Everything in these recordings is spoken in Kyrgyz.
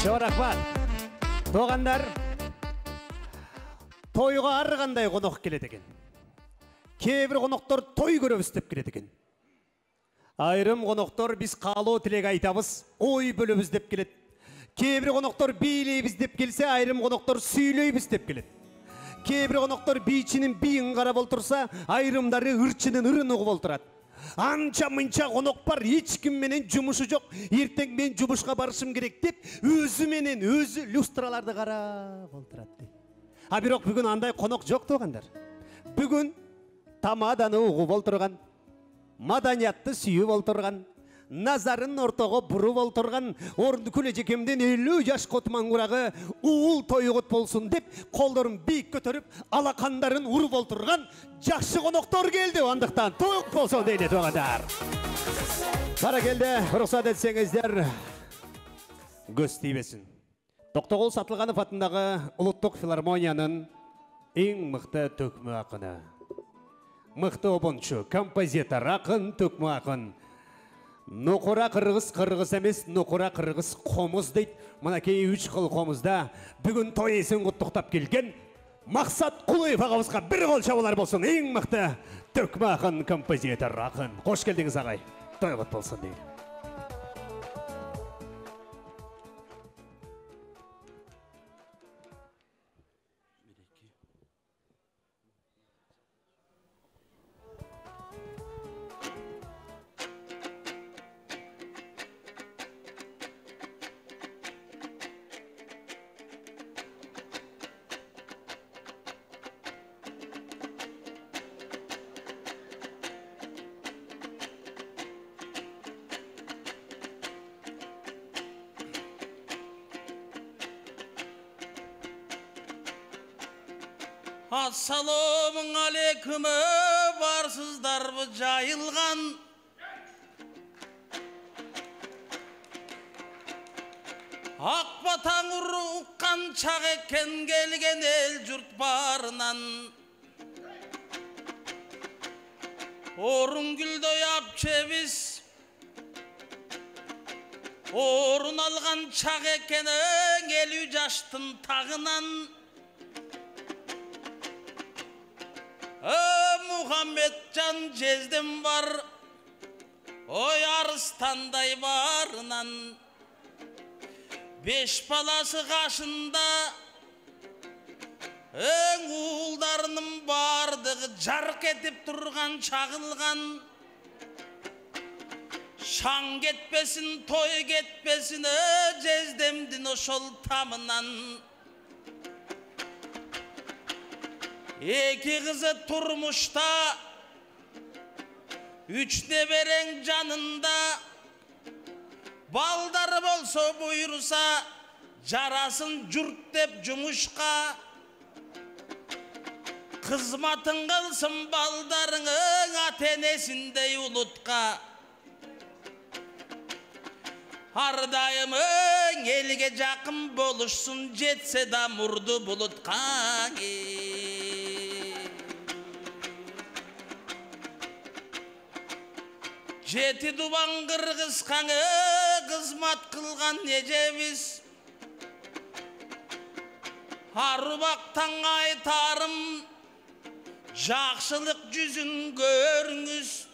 Çok rahmat. Doğanlar, toyga ар кандай конок келет экен. Кээ-бир коноктор той көрөбүз деп келет экен. Айрым коноктор биз каалоо тилек айтабыз, ой бөлөбүз деп келет. Кээ-бир коноктор бийлейбиз деп келсе, айрым коноктор сүйлөйбүз деп келет. Кээ-бир коноктор бийчинин бийин карап олтурса, айрымдары ырчынын ырын угуп олтурат. Анча-мынча конок бар, эч ким менен жумушу жок. Эртең мен жумушка барышым керек деп, өзү менен өзү люстраларды карап олтурат. А бирок бүгүн андай конок жок туугандар. Бүгүн тамаданы угуп олтурган, маданиятты сүйүп олтурган, назарын ортого буруп олтурган, Ордукул эжекемден 50 жашка отмангурагы уул тойгут болсун деп, колдорун бийик көтөрүп, алакандарын уруп олтурган жакшы коноктор келди. Андыктан тоюк болсун дейли туугандар. Баракелде, уруксат этсеңиздер, көз тийбесин. Токтогул Сатылганов атындагы Улуттук филармониянын эң мыкты төкмө акыны. Мыкты обончу, композитор, акын, төкмө акын. Нукура кыргыз эмес, нукура кыргыз комуз дейт. Мынакей 3 кыл комузда бүгүн той эсин куттуктап келген Максат Кулуев агабызга бир кол чабуулар болсун. Эң мыкты төкмө акын, композитор, акын. Кош келдиңиз агай. Тойгут болсун дейли. Assalamu aleykum, barsızdarбы жайылган. Ак батаң уккан чак экен келген эл журт барынан. Орун гүлдөй апчебиз, орун алган чак экен 50 жаштын тагынан. Muhammedcan jezdem var, oy arıstандай barынан. 5 balası kaşında, uğuldarının bardığı jark etip durgan çağılgan. Şan getpesin, toy getpesin, jezdemdin oşol tamından. Eki kızı turmuşta, 3 nebereң canında. Baldarı bolsa buyursa, jarasın jurt dep jumuşka. Kızmatın kılsın baldarının atenesindey ulutka. Ardayımın elge jakın boluşsun, jetse da murdu bulutka. Jeti duban kırgız kanı kızmat kılgan ejemiz. Arubaktan aytarım, jakşılık yüzün görüңүz.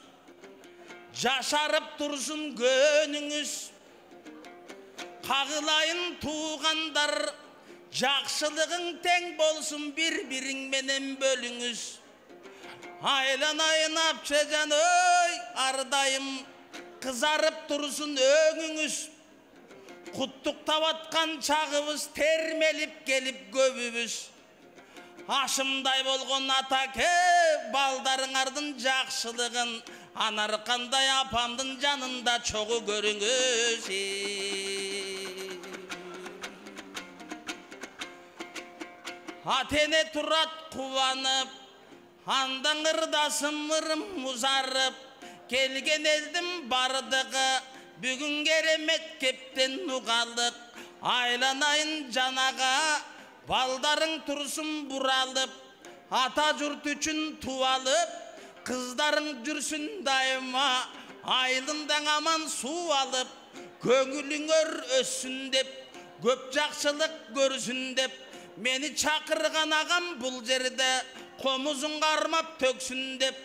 Jaşarıp tursun gönüңүz. Kagılayın tuğandar, jakşılığın teң bolsun, bir-biriň menen bölüңүz. Aylanayın apçecan oy, ardayım kızarıp dursun öňüňüz. Kuttuktap atkan çağıbız, termelip gelip göbübüz. Aşımday bolgon atake, baldarıňardın jakşılığın, anarkanday apamdın janında çoğu görüңüz. Atene turat kuvanıp, andan ırdasım ırım uzarıp, kelgen eldim bardığı, bugün keremet kepten nugalık. Aylanayın canaga, baldarın tursun buralıp, ata jurt üçün tuvalıp, kızların jürsün daima, aylından aman su alıp, köngülüңөр össün dep, көп жакшылык көрсүн деп мени чакырган агам бул жерде комузун кармап төксүн деп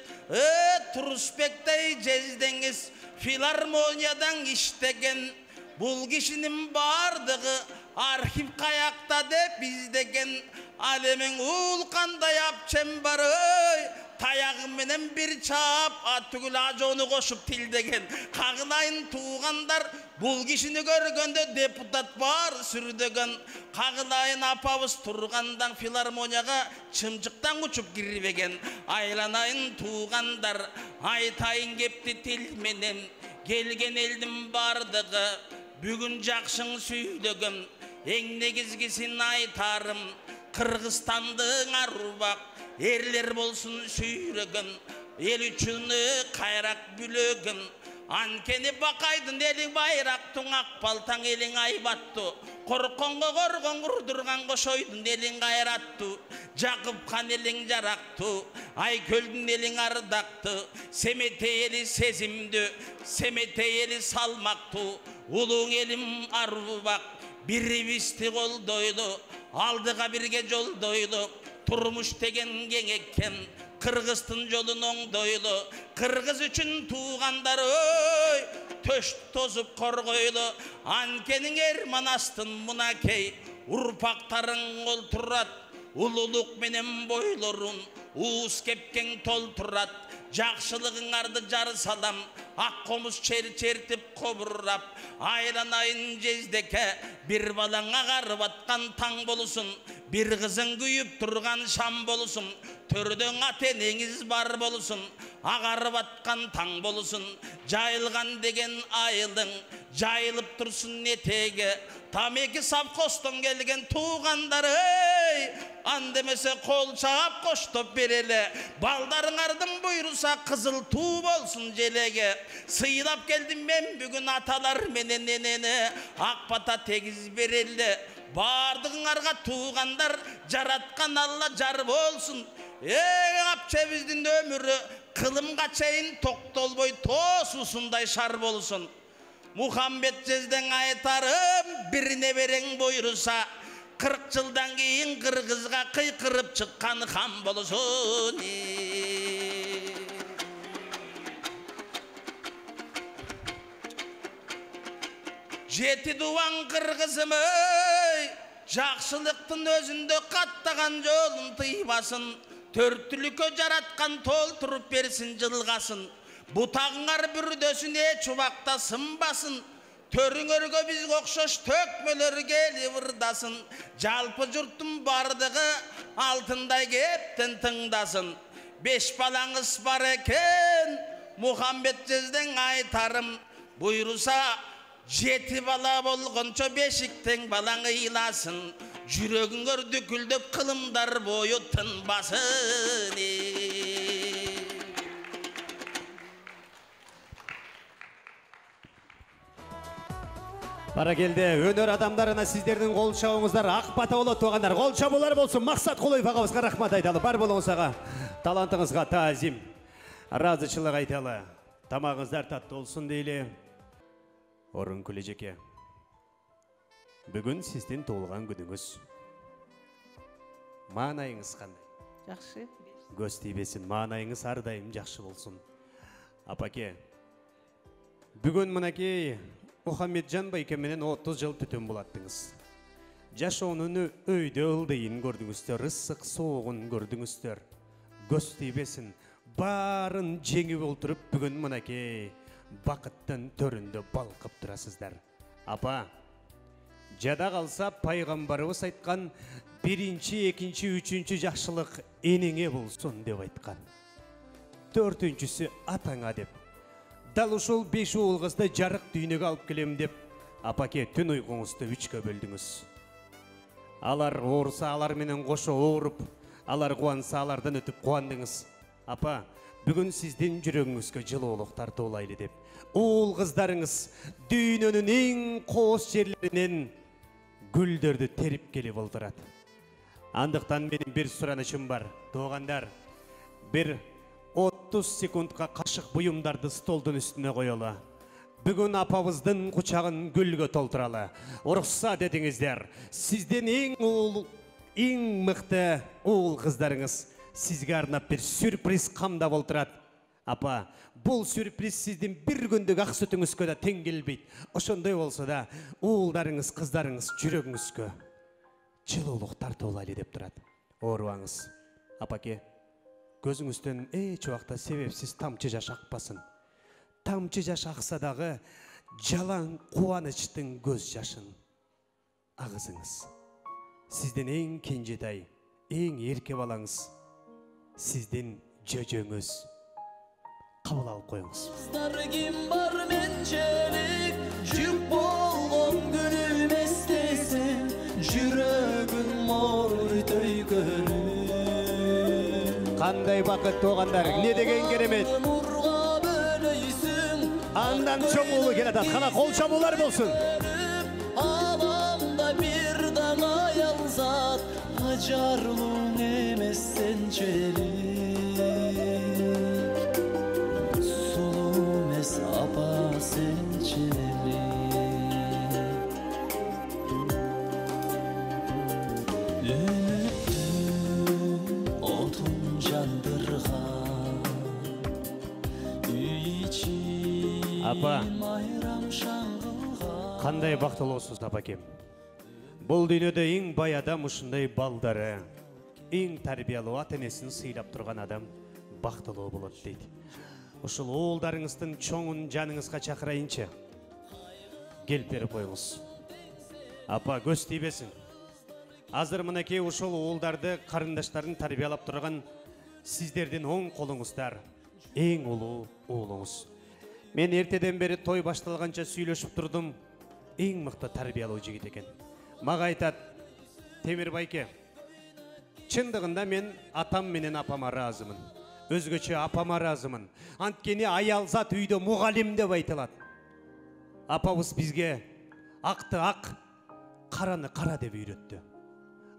Турусбектей жездеңиз филармониядан иштеген бул кишинин бардыгы архив каякта деп издеген ал эмең ул кандай апчем бар таягы менен бир чаап түгүл ажоону кошуп тилдеген кагылайын туугандар бул кишини көргөндө депутат бар сүрдөгөн кагылайын апабыз тургандан филармонияга чымчыктан учуп кирбеген айланайын туугандар айтайын кепти тил менен келген элдин бардыгы бүгүн жакшың сүйлөгөн эң негизгисин айтарым Кыргызстандын арубак эрлер болсун сүйрөгөн эл үчүн кайрак бүлөгөн анткени бакайдын эли байрактың ак балтаң элиң айбаттуу коркконго коргон курдурган кошойдун элиң кайраттуу Жакып хан элиң жарактуу Айкөлдүн элиң ардактуу Семетей эли сезимдүү Семетей эли салмактуу улуң элим арубак бирибизди колдойлу алдыга бирге жолдойлу турмуш деген кең экен кыргыздын жолун оңдойлу кыргыз үчүн туугандар төш тозуп коргойлу анткени Эрманастын мунакей урпактарың олтурат улуулук менен бойлорун уус кепкең толтурат жакшылыгыңарды жар салам ак комуз чертип кобуррап айланайын жездеке бир балаң агарып аткан таң болусун бир кызың күйүп турган шам болусун төрдөң ата энеңиз бар болусун агарып аткан таң болусун жайылган деген айылың жайылып турсун этеги тамеки совхоздон келген туугандар андемесе кол чаап коштоп берели балдарыңардын буйруса кызыл туу болсун желеге сыйлап келдим мен бүгүн аталар менен энени ак бата тегиз берели бардыгыңарга туугандар жараткан Алла жар болсун апчебиздин өмүрү кылымга чейин токтолбой тоосусундай шар болсун Мухаммед жездең айтарым бир неберең буйруса 40 жылдан кийин кыргызга кыйкырып чыккан хан болсун. Жети дубан кыргызым жакшылыктын өзүндө каттаган жолун тыйбасын, төрттүлүккө жараткан толтуруп берсин жылгасын. Бутагыңар бүрдөсүн эч убакта сынбасын, төрүңөргө бизге окшош төкмөлөр келип ырдасын. Жалпы журттун бардыгы алтындай кептен тыңдасын. 5 балаңыз бар экен, Мухаммед жездең айтарым, буйруса 7 бала болгончо бешиктең балаң ыйласын. Жүрөгүңөр дүкүлдөп кылымдар бою тынбасын. Баракелде, өнөр адамдарына сиздердин кол чабыңыздар ак бата болот туугандар. Кол чабуулар болсун. Максат Кулуев агабызга рахмат айталы. Бар болуңузга, талантыңызга таазим, ыраазычылык айталы. Тамагыңыздар таттуу болсун дейли. Орункүл эжеке. Бүгүн сиздин туулган күнүңүз. Маанайыңыз кандай? Жакшы. Көз тийбесин, маанайыңыз ар дайым жакшы болсун. Апаке, бүгүн мынакей Мухаммеджан байке менен 30 жыл түтүн булаттыңыз. Жашоонун өйдө ылдыйын көрдүңүздөр, ысык соогун көрдүңүздөр. Көз тийбесин, баарын жеңип олтуруп бүгүн мынакей бакыттын төрүндө балкып турасыздар. Апа, жада калса пайгамбарыбыз айткан 1-чи, 2-чи, 3-чү жакшылык энеңе болсун деп айткан. 4-чүсү атаңа деп. Дал ушул 5 уул кызды жарык дүйнөгө алып келем деп, апаке түн уйкуңузду 3кө бөлдүңүз. Алар ооруса алар менен кошо ооруп, алар кубанса алардан өтүп кубандыңыз. Апа, бүгүн сиздин жүрөгүңүзгө жылуулук тартуулайлы деп, уул кыздарыңыз дүйнөнүн эң кооз жерлеринен гүлдөрдү терип келип олдурат. Андыктан менин бир суранычым бар. Туугандар, бир 30 секундка кашык буюмдарды столдун үстүнө коелу. Бүгүн апабыздын кучагын гүлгө толтуралы. Уруксат этиңиздер. Сизден эң мыкты уул кыздарыңыз сизге арнап бир сюрприз камдап олтурат. Апа, бул сюрприз сиздин бир күндүк ак сүтүңүзгө да тең келбейт. Ошондой болсо да, уулдарыңыз, кыздарыңыз жүрөгүңүзгө жылуулук тартып алайлы деп турат. Оорубаңыз. Апаке, көзүңүздөн эч убакта себепсиз тамчы жаш акпасын. Тамчы жаш акса дагы жалаң кубанычтын көз жашын агызыңыз. Сизден эң кенжетай, эң эрке балаңыз, сиздин жөжөңүз. Кабыл алып коюңуз. Ким бар менчелик, жүк болгон күнүм эстесем, жүрөгүм мой төйгөнү. Кандай бакыт туугандар, эмне деген керемет. Андан чоң уулу келатат, кана кол чабуулар болсун. Аламда бир дана аялзат, ажарлуу эмес сенчелик. Апа сенчелик. Үмүттүн отун жандырган үй ичи майрам шаңгылган. Кандай бактылуусуз апакем. Бул дүйнөдө эң бай адам ушундай балдары, эң тарбиялуу ата-энесин сыйлап турган адам бактылуу болот дейт. Ушул уулдарыңыздын чоңун жаныңызга чакырайынчы. Келип берип коюңуз. Апа, көз тийбесин. Азыр мынакей ушул уулдарды, карындаштарын тарбиялап турган сиздердин оң колуңуздар, эң улуу уулуңуз. Мен эртеден бери той башталганча сүйлөшүп турдум. Эң мыкты тарбиялуу жигит экен. Мага айтат: "Темир байке, чындыгында мен атам менен апама ыраазымын. Өзгөчө апама ыраазымын. Анткени аялзат үйдө мугалим деп айтылат. Апабыз бизге акты ак, караны кара деп үйрөттү.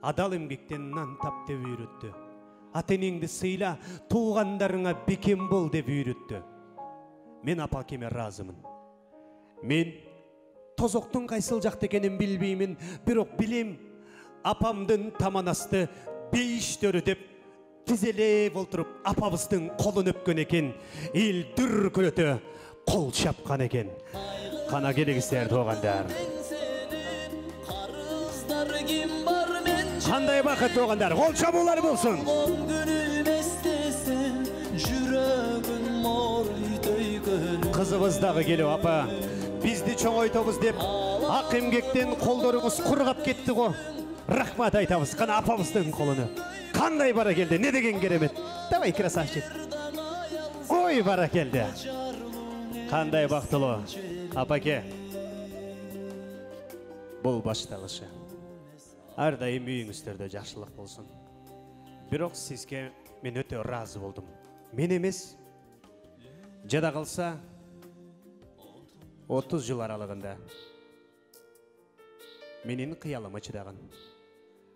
Адал эмгектен нан тап деп үйрөттү. Ата-энеңди сыйла, туугандарыңа бекем бол деп үйрөттү. Мен апакеме ыраазымын. Мен тозоктун кайсыл жакта экенин билбеймин, бирок билем, апамдын таманасты бейиштөрү деп тизелеп олтуруп апабыздын колун өпкөн экен, эл дүркүрөтө кол чапкан экен. Кана келиңиздер туугандар. Кандай бакыт туугандар, кол чабуулар болсун. Кызыбыз дагы келип, апа, бизди чоңойтобуз деп ак эмгектен колдоруңуз кургап кетти го. Рахмат айтабыз. Кана апабыздын колуну. Кандай бара келди, не деген керемет. Давай, красавчик. Ой, бара келди. Кандай бактылуу. Апаке, бул башталышы. Ар дайым үйүңүздөрдө жакшылык болсун. Бирок сизге мен өтө ыраазы болдум. Мен эмес, жада калса 30 жыл аралыгында менин кыялыма чыдаган,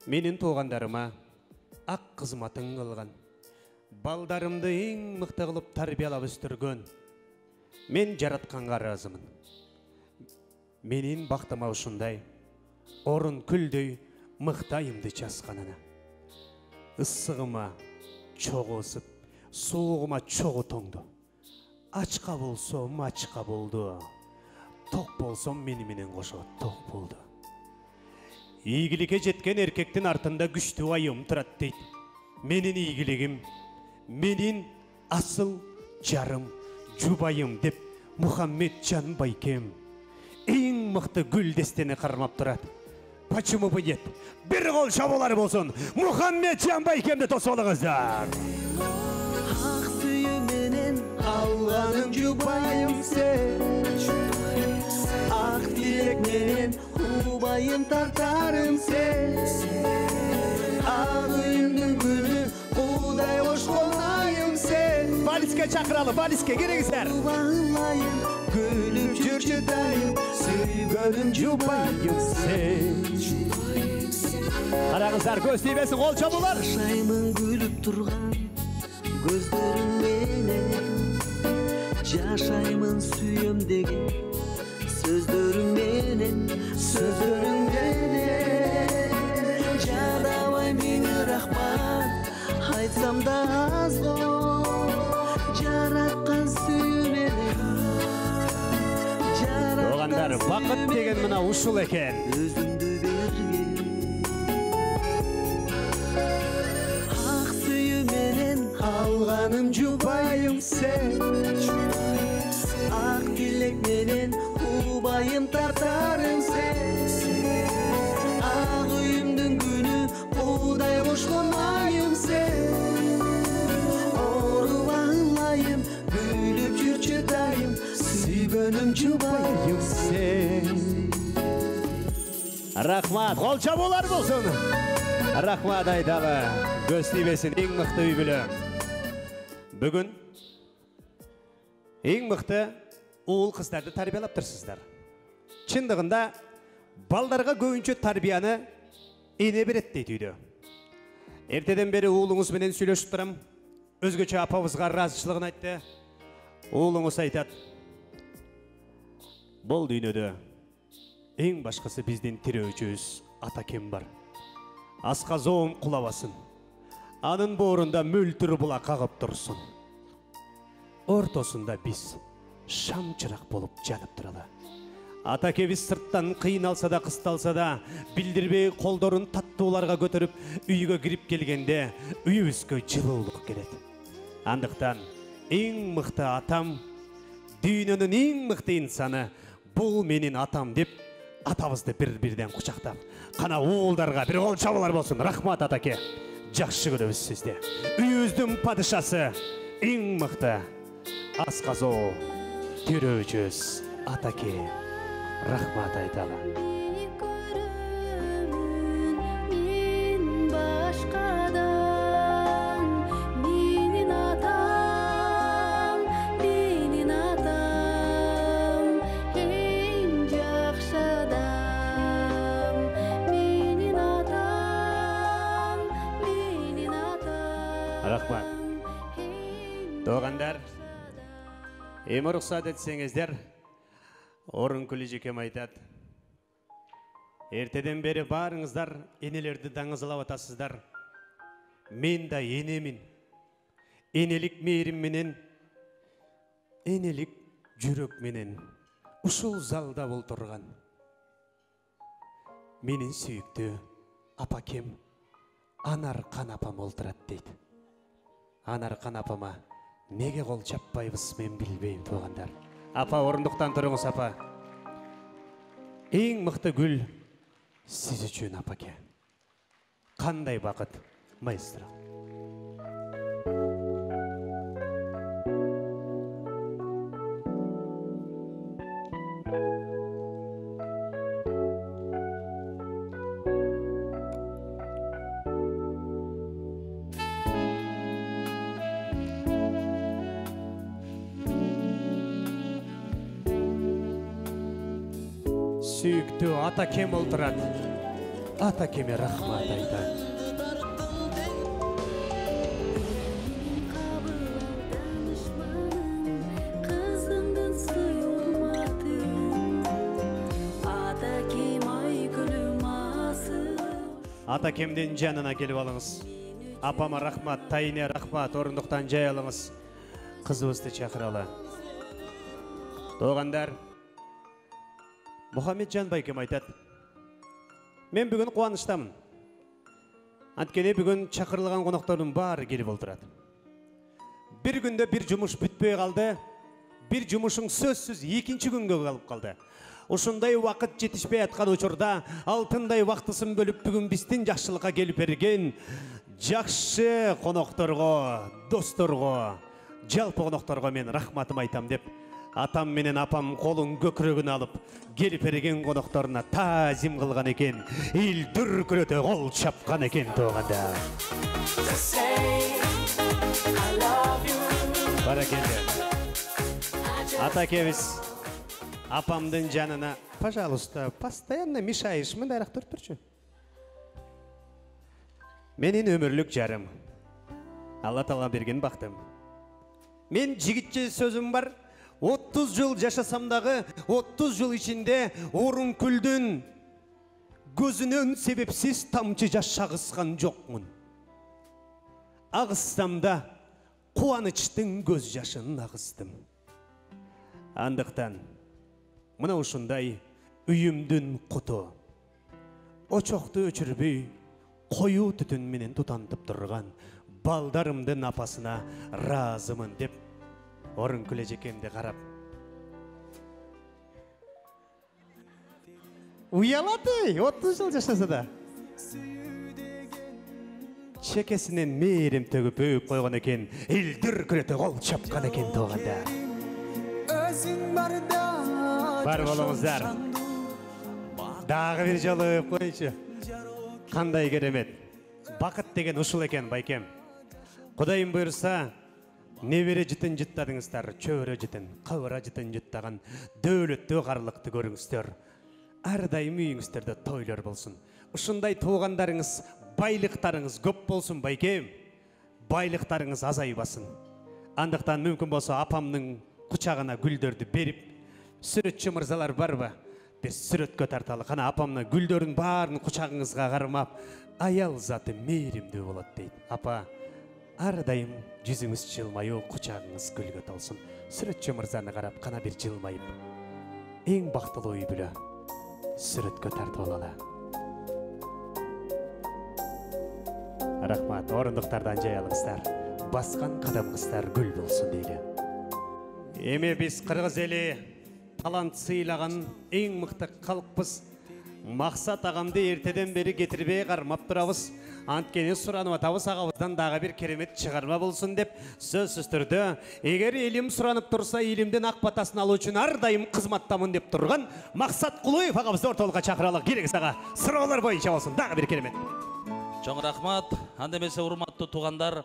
менин туугандарыма ак кызматын кылган, балдарымды эң мыкты кылып тарбиялап өстүргөн мен жаратканга ыраазымын. Менин бактыма ушундай орун күлдөй мыкты айымды часканына. Ысыгыма чогуу ысып, суугума чогуу тоңду. Ачка болсом ачка болду. Ток болсом мени менен кошо ток болду. Ийгиликке жеткен эркектин артында күчтүү айым турат дейт. Менин ийгилигим, менин асыл жарым, жубайым деп Мухаммеджан байкем эң мыкты гүл дестени кармап турат. Почему бы нет? Бир кол чабуулар болсун. Мухаммеджан байкемди тосуп алыңыздар. Ак сүйү менен алганым жубайым сен. Ак тилек менен убайым тартарым сен. Ак үйүмдүн гүлү куудай кошкон айым сен. Балиске чакыралы, балиске келиңиздер. Гүлүп жүрчү дайым, сүйгөнүм жубайым сен. Караңыздар, көз тийбесин, кол чабуулар. Жашаймын күлүп турган көздөрүң менен. Жашаймын сүйөм деген Сөздөрүң менен жадабай мени рахмат айтсам да аз го жараткан сүйүү менен Оғандар, бақыт деген мына ушул экен. өзүмдү берген ак сүйүү менен алганым жубайым сен ак тилек менен убайым тартарым сен ак үйүмдүн күнү уудай кошкон айым сен оорубайым күлүп жүрчү дайым сүйгөнүм жубайым сен. Рахмат, кол чабуулар болсун. Рахмат айталы. Көз тийбесин эң мыкты үй бүлө. Бүгүн эң мыкты уул кыздарды тарбиялап турсуздар. Чындыгында балдарга көбүнчө тарбияны эне берет дейт үйдө. Эртеден бери уулуңуз менен сүйлөшүп турам. Өзгөчө апабызга ыраазычылыгын айтты. Уулуңуз айтат: "Бул дүйнөдө эң башкысы биздин тирөөчүбүз ата кем бар. Асказоом кулабасын. Анын боорунда мөлтүр була кагып турсун. Ортосунда биз шам чырак болуп жанып туралы. Ата кебиз сырттан кыйналса да кысталса да билдирбей колдорун таттууларга көтөрүп үйгө кирип келгенде үйүбүзгө жылуулук келет. Андыктан эң мыкты атам, дүйнөнүн эң мыкты инсаны бул менин атам деп атабызды бир-бирден кучактап, кана уулдарга бир кол чабуулар болсун. Рахмат атаке. Жакшы көрөбүз сизди. Үйүбүздүн падышасы, эң мыкты асказоо тирөөчүбүз атаке. Рахмат айталы. Рахмат. Туугандар, эми уруксат этсеңиздер, Орун Күлүжекем айтат: "Эртеден бери баарыңыздар энелерди даңызалап атасыздар. Мен да энемин. Энелик мээрим менен, энелик жүрөк менен ушул залда болтурган менин сүйүктүү апакем Анаркан апам олтурат" дейт. Анаркан апама неге кол чаппайбыз мен билбейм туугандар. Апа, орундуктан туруңуз апа. Эң мыкты гүл сиз үчүн апаке. Кандай бакыт, маэстро. Сүйүктүү атакем олтурат. Атакеме рахмат айтат. Атакемдин жанына келип алыңыз. Апама рахмат, тайыне рахмат, орундуктан жай алыңыз. Кызыбызды чакыралы. Туугандар, Мухаммеджан байкем айтат: "Мен бүгүн кубанычтамын. Анткени бүгүн чакырылган коноктордун баары келип олтурат. Bir күндө bir жумуш бүтпөй калды. Bir жумушуң сөзсүз экинчи күнгө калып калды. Ушундай убакыт жетишпей аткан учурда алтындай вактысын бөлүп бүгүн биздин жакшылыкка келип берген жакшы конокторго, досторго, жалпы конокторго мен рахматым айтам" деп атам менен апам колун көкүрөгүнө алып келип берген конокторуна таазим кылган экен. Эл дүркүрөтө кол чапкан экен туугандар. Баракелде. Атакебиз апамдын жанына, пожалуйста, постоянно мешаешь, мындайраак туруп турчу. Менин өмүрлүк жарым. Алла Таала берген бактым. Мен жигитче сөзүм бар. 30 жыл жашасам дагы 30 жыл ичинде Орункүлдүн көзүнөн себепсиз тамчы жаш агызган жокмун. Агызсам да кубанычтын көз жашын агыздым. Андыктан мына ушундай үйүмдүн куту очокту өчүрбөй коюу түтүн менен тутантып турган балдарымдын апасына ыраазымын деп Орункүл эжекемди карап уялат, 30 жыл жашаса да. Чекесинен мээрим төгүп өйүп койгон экен, эл дүркүрөтө кол чапкан экен тууганда. Бар болуңуздар. Дагы бир жолу өйүп коюнчу. Кандай керемет. Бакыт деген ушул экен байкем. Кудайым буйрса, небере жытын жыттадыңыздар, чөбөрө жытын, кабыра жытын жыттаган дөөлөттүү карлыкты көрүңүздөр. Ар дайым үйүңүздөрдө тойлор болсун. Ушундай туугандарыңыз, байлыктарыңыз көп болсун байкем. Байлыктарыңыз азайбасын. Андыктан мүмкүн болсо апамдын кучагына гүлдөрдү берип, сүрөтчү мырзалар барбы? Бир сүрөткө тарталы. Кана апамдын гүлдөрүн баарын кучагыңызга кармап, аял заты мээримдүү болот дейт. Апа, ар дайым жүзүңүз жылмаюу, кучагыңыз гүлгө толсун. Сүрөтчү мырзаны карап, кана бир жылмайып, эң бактылуу үй бүлө сүрөткө тартып алалы. Рахмат, орындуктардан жаялыңыздар. Баскан кадамыңыздар гүл болсун дейли. Эми биз кыргыз эли талант сыйлаган эң мыкты калкпыз. Максат агамды эртеден бери кетирбей кармап турабыз. Анткени суранып атабыз, агабыздан дагы бир керемет чыгарма болсун деп. Сөзсүз түрдө, эгер элим суранып турса, элимдин ак батасын алуу үчүн ар дайым кызматтамын деп турган Максат Кулуев агабызды ортолукка чакыралы. Керек сага суроолор боюнча болсун. Дагы бир керемет. Чоң рахмат. Анда эмесе урматтуу туугандар,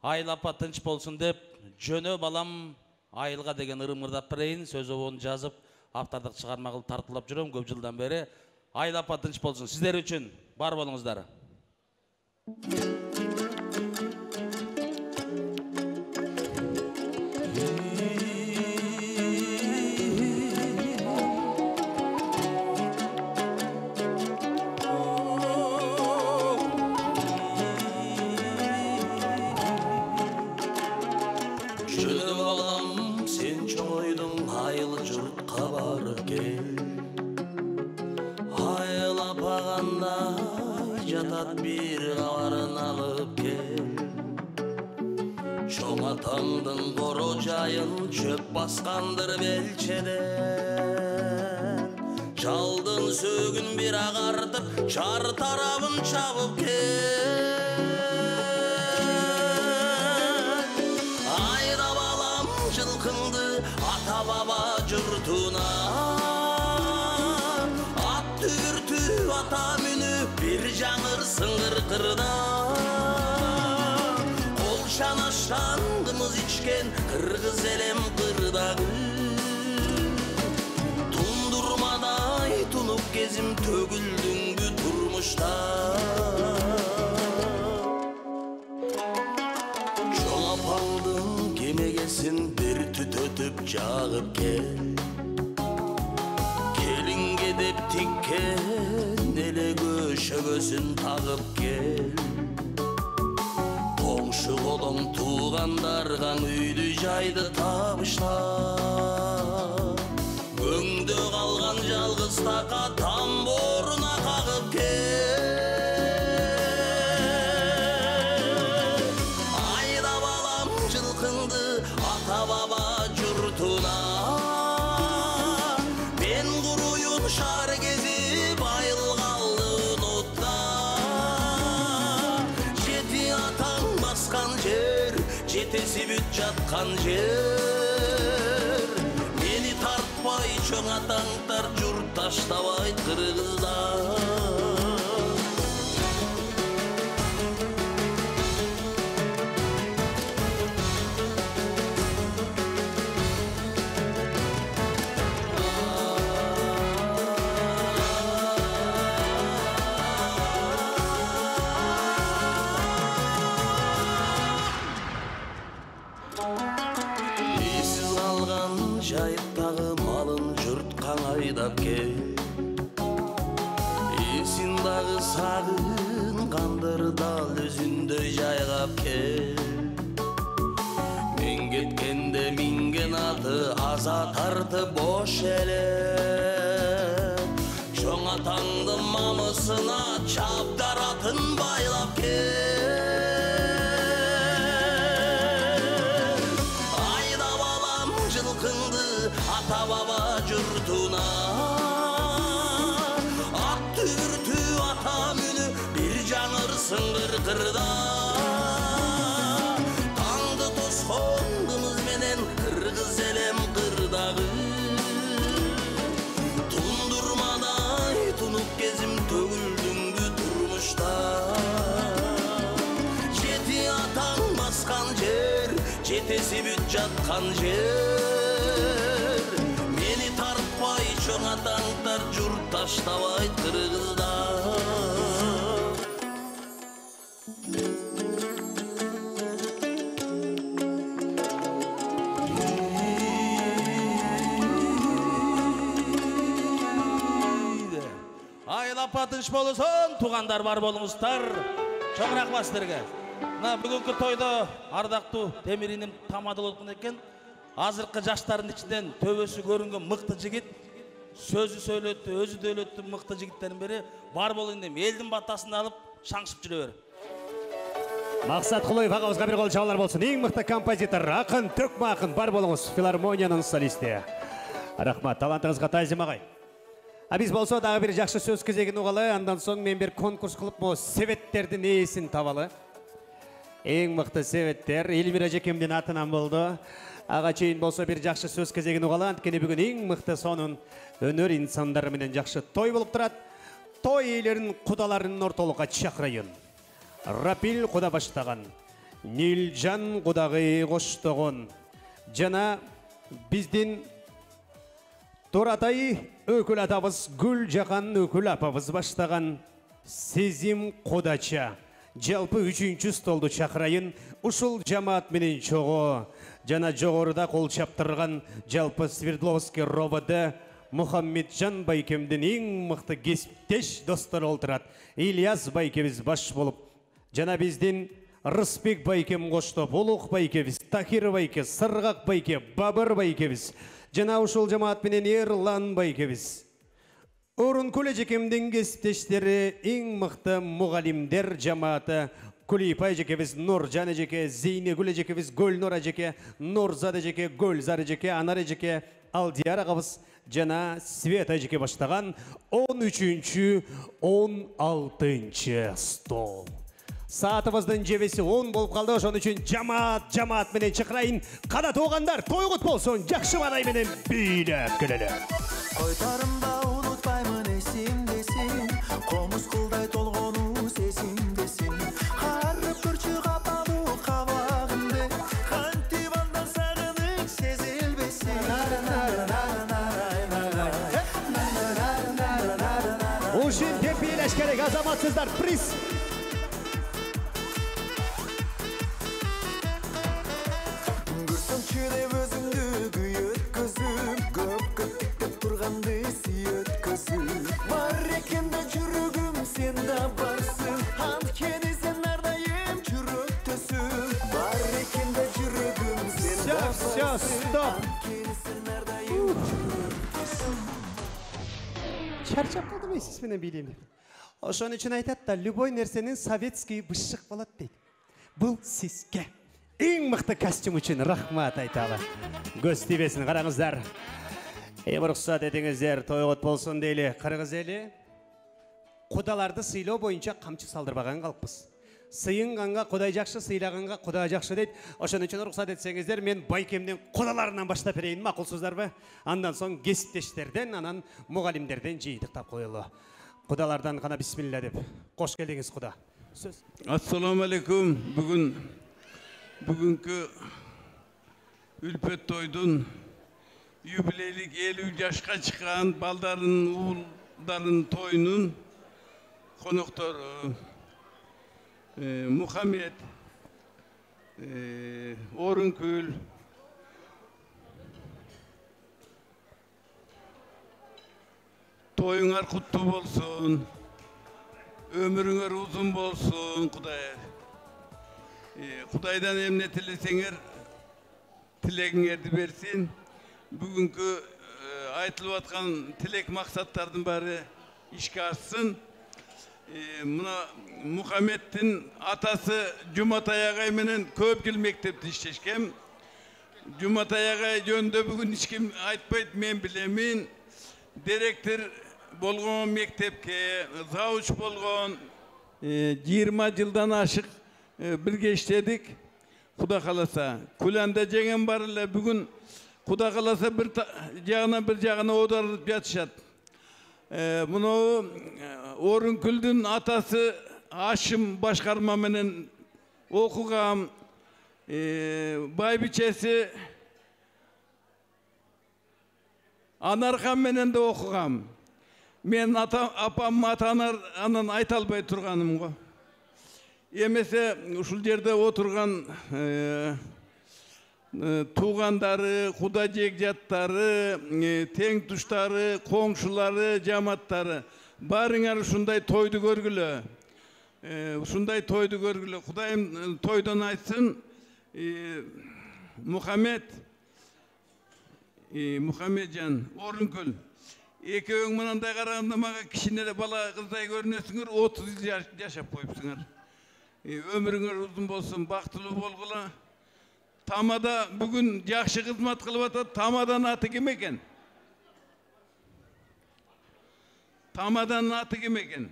Айыл апа тынч болсун деп, жөнө балам Айылга деген ырымырдап берейин. Сөз обон жазып, автордук чыгарма кылып тартылап жүрөм көп жылдан бери. Айыл апа тынч болсун. Сиздер үчүн бар болуңуздар. Атаңдың қоро жайын чөп басқандыр белчеден. Жалдың сөгін бір ағартып, шар тарабын чабып кел. Айда балам жылқыңды ата баба жұртуна, ат түртү ата мүні бір жаңыр сыңғыр қырда. Шанашандымыз içken kırgız elem kırdağı, Tundurmaday tunup gezim tөгүлдүңбү turmuşta. Çol apaldın kemegesin bir tütötüp çağıp gel. Kelinge dep tikken ele köşögösün tağıp gel. Şu kolum tuğandargan üydü jaydı tabışla. Göңdö kalgan жалгыз taka tamboruna kakıp gel. Ayda balam жылкыңды ata baba jurtuna, ben kuruyun şar gezip ayıl kaldı unutta. Jeti atan baskan jer, жетеси бүт жатқан жер. Мени тартпай чоң атаңдар, журт таштабай кыргыздар. айдап кел. Эсин дагы сагынгандыр дал өзүндөй жайгап кел. Мен кеткенде минген аты аза тартып бош эле. Чоң атаңдын мамысына чабдаратын байлап кел. Айдап алам жылкыңды ата баба журтуна. Ат түртүү ата мүнү бир жаңырсын кыркырда. Таңды тоскондумуз менен кыргыз элем кырдагы. Тундурмадай тунуп кезим төгүлдүңдү турмушта. Жети атаң баскан жер, жетеси бүт жаткан жер. Мени тартпай чоң атаңдар журт таштабайт кыргызда. Айылапа тынч болусон, тугандар бар болуңуздар. Чоң рахмат сиздерге. Мына бүгүнкү тойдо ардактуу Темириним тамады болгон экен. Азыркы жаштардын ичинен төбөсү көрүнгөн мыкты жигит, сөзү сөйлөттү, өзү дөөлөттү мыкты жигиттердин бири бар болуйн деп элдин батасын алып шаңшып жүрө бер. Максат Кулоев агабызга бир кол чабуулар болсун. Эң мыкты композитор, акын, төкмө акын бар болуңуз. Филармониянын солисти. Рахмат, талантыңызга таазим агай. Биз болсо дагы бир жакшы сөз кезегин угалы, андан соң мен бир конкурс кылып, мо себеттердин ээсин табалы. Эң мыкты себеттер Элмира жекемдин атынан болду. Ага чейин болсо бир жакшы сөз кезегин угалы, анткени бүгүн эң мыкты сонун өнөр инсандары менен жакшы той болуп турат. Той ээлерин кудаларынын ортолукка чакырайын. Рапил куда баштаган, Нилжан кудагы коштогон, жана биздин Туратай өкүл атабыз Гүл Жакан өкүл апабыз баштаган Сезим кудача. Жалпы 3-чү столду чакырайын. Ушул жамаат менен чогуу жана жогоруда кол чаптырган жалпы Свердловский РОВД Мухаммеджан байкемдин эң мыкты кесиптеш достору олтурат. Ильяс байкебиз баш болуп, жана биздин Рысбек байкем коштоп, Улук байкебиз, Тахир байке, Сыргак байке, Бабыр байкебиз, жана ушул жамаат менен Эрлан байкебиз. Орункул эжекемдин кесиптештери эң мыкты мугалимдер жамааты Кулипай эжекебиз, Нуржан эжеке, Зейнегүл эжекебиз, Гөлнур эжеке, Нурзат эжеке, Гөлзар эжеке, Анар эжеке, Алдияр агабыз жана Света эжеке баштаган 13-16 стол. Саатыбыздын жебеси 10 болуп калды. Ошон үчүн жамаат менен чакырайын. Када туугандар, тойгут болсун, жакшы бадай менен бийлеп келели. Койтарымда унутпаймын эсимдесин, комуз кылдай толгону сезимдесин. Карып көрчү капалуу кабагымды, кантип андан сагыныч сезилбесин. Ушин деп бийлеш керек, азаматсыздар, приз. Чыдеп өзүңдү күйөткөзүп, көп көттүктөп турганды сүйөткөзүп. Бар экен да жүрөгүм, сен да барсың, анткени сен ардайым жүрөктөсүң. Бар экен да жүрөгүм, сен да барсың, анткени сен ардайым жүрөктөсүң. Чарчап калдым сиз менен бийлейм. Ошон үчүн айтат да, любой нерсенин советский бышык болот дейт. Бул сизге эң мыкты костюм үчүн рахмат айталы. Көз тийбесин, караңыздар. Уруксат этиңиздер, тойгот болсун дейли. Кыргыз эли кудаларды сыйлоо боюнча камчы салдырбаган калкпыз. Сыйынганга Кудай жакшы, сыйлаганга Кудай жакшы дейт. Ошон үчүн уруксат этсеңиздер, мен байкемдин кудаларынан баштап берейин, макулсуздарбы? Андан соң кесиптештерден, анан мугалимдерден жыйдыктап коелу. Кудалардан кана бисмилла деп. Кош келдиңиз куда. Сөз. Ассаламу алейкум. Бүгүнкү үлпөт тойдун юбилейлик 50 жашка чыккан балдарын, уулдарын тоюнун коноктору Мухаммед, Орункүл, Toyuңар куттуу болсун. Ömürüңөр uzun bolsun, Kuday. Kudaydan emne tilesеңер, tilегиңерди берсин. Бүгүнкү айтылып аткан тилек максаттардын баары ишке ашсын. Мына Мухаммедтин атасы Жуматай агай менен көп жыл мектепте иштешкем. Жуматай агай жөнүндө бүгүн эч ким айтпайт, мен билемин. Директор болгон мектепке, завуч болгон 20 жылдан ашык бирге иштедик. Куда кааласа, Куланда жеген бар эле бүгүн Куда кааласа бир жагына оодарып жатышат. Муну Орункүлдүн атасы Ашым башкарма менен окугам, байбичеси Анархан менен да окугам. Мен апам ата-анан айта албай турганым го. Эмесе ушул жерде отурган туугандары, куда жегжаттары, тең туштары, коңшулары, жаматтары баарыңар ушундай тойду көргүлө. Ушундай тойду көргүлө. Кудайым тойдон айтсын. Мухаммеджан, Орункүл. Экөөң мынандай караганда мага кичине бала кыздай көрүнөсүңөр, 30 жыл жашап коюпсуңар. Өмүрүңөр узун болсун, бактылуу болгула. Тамада бүгүн жакшы кызмат кылып атат. Тамадан аты ким экен? Тамадан аты ким экен?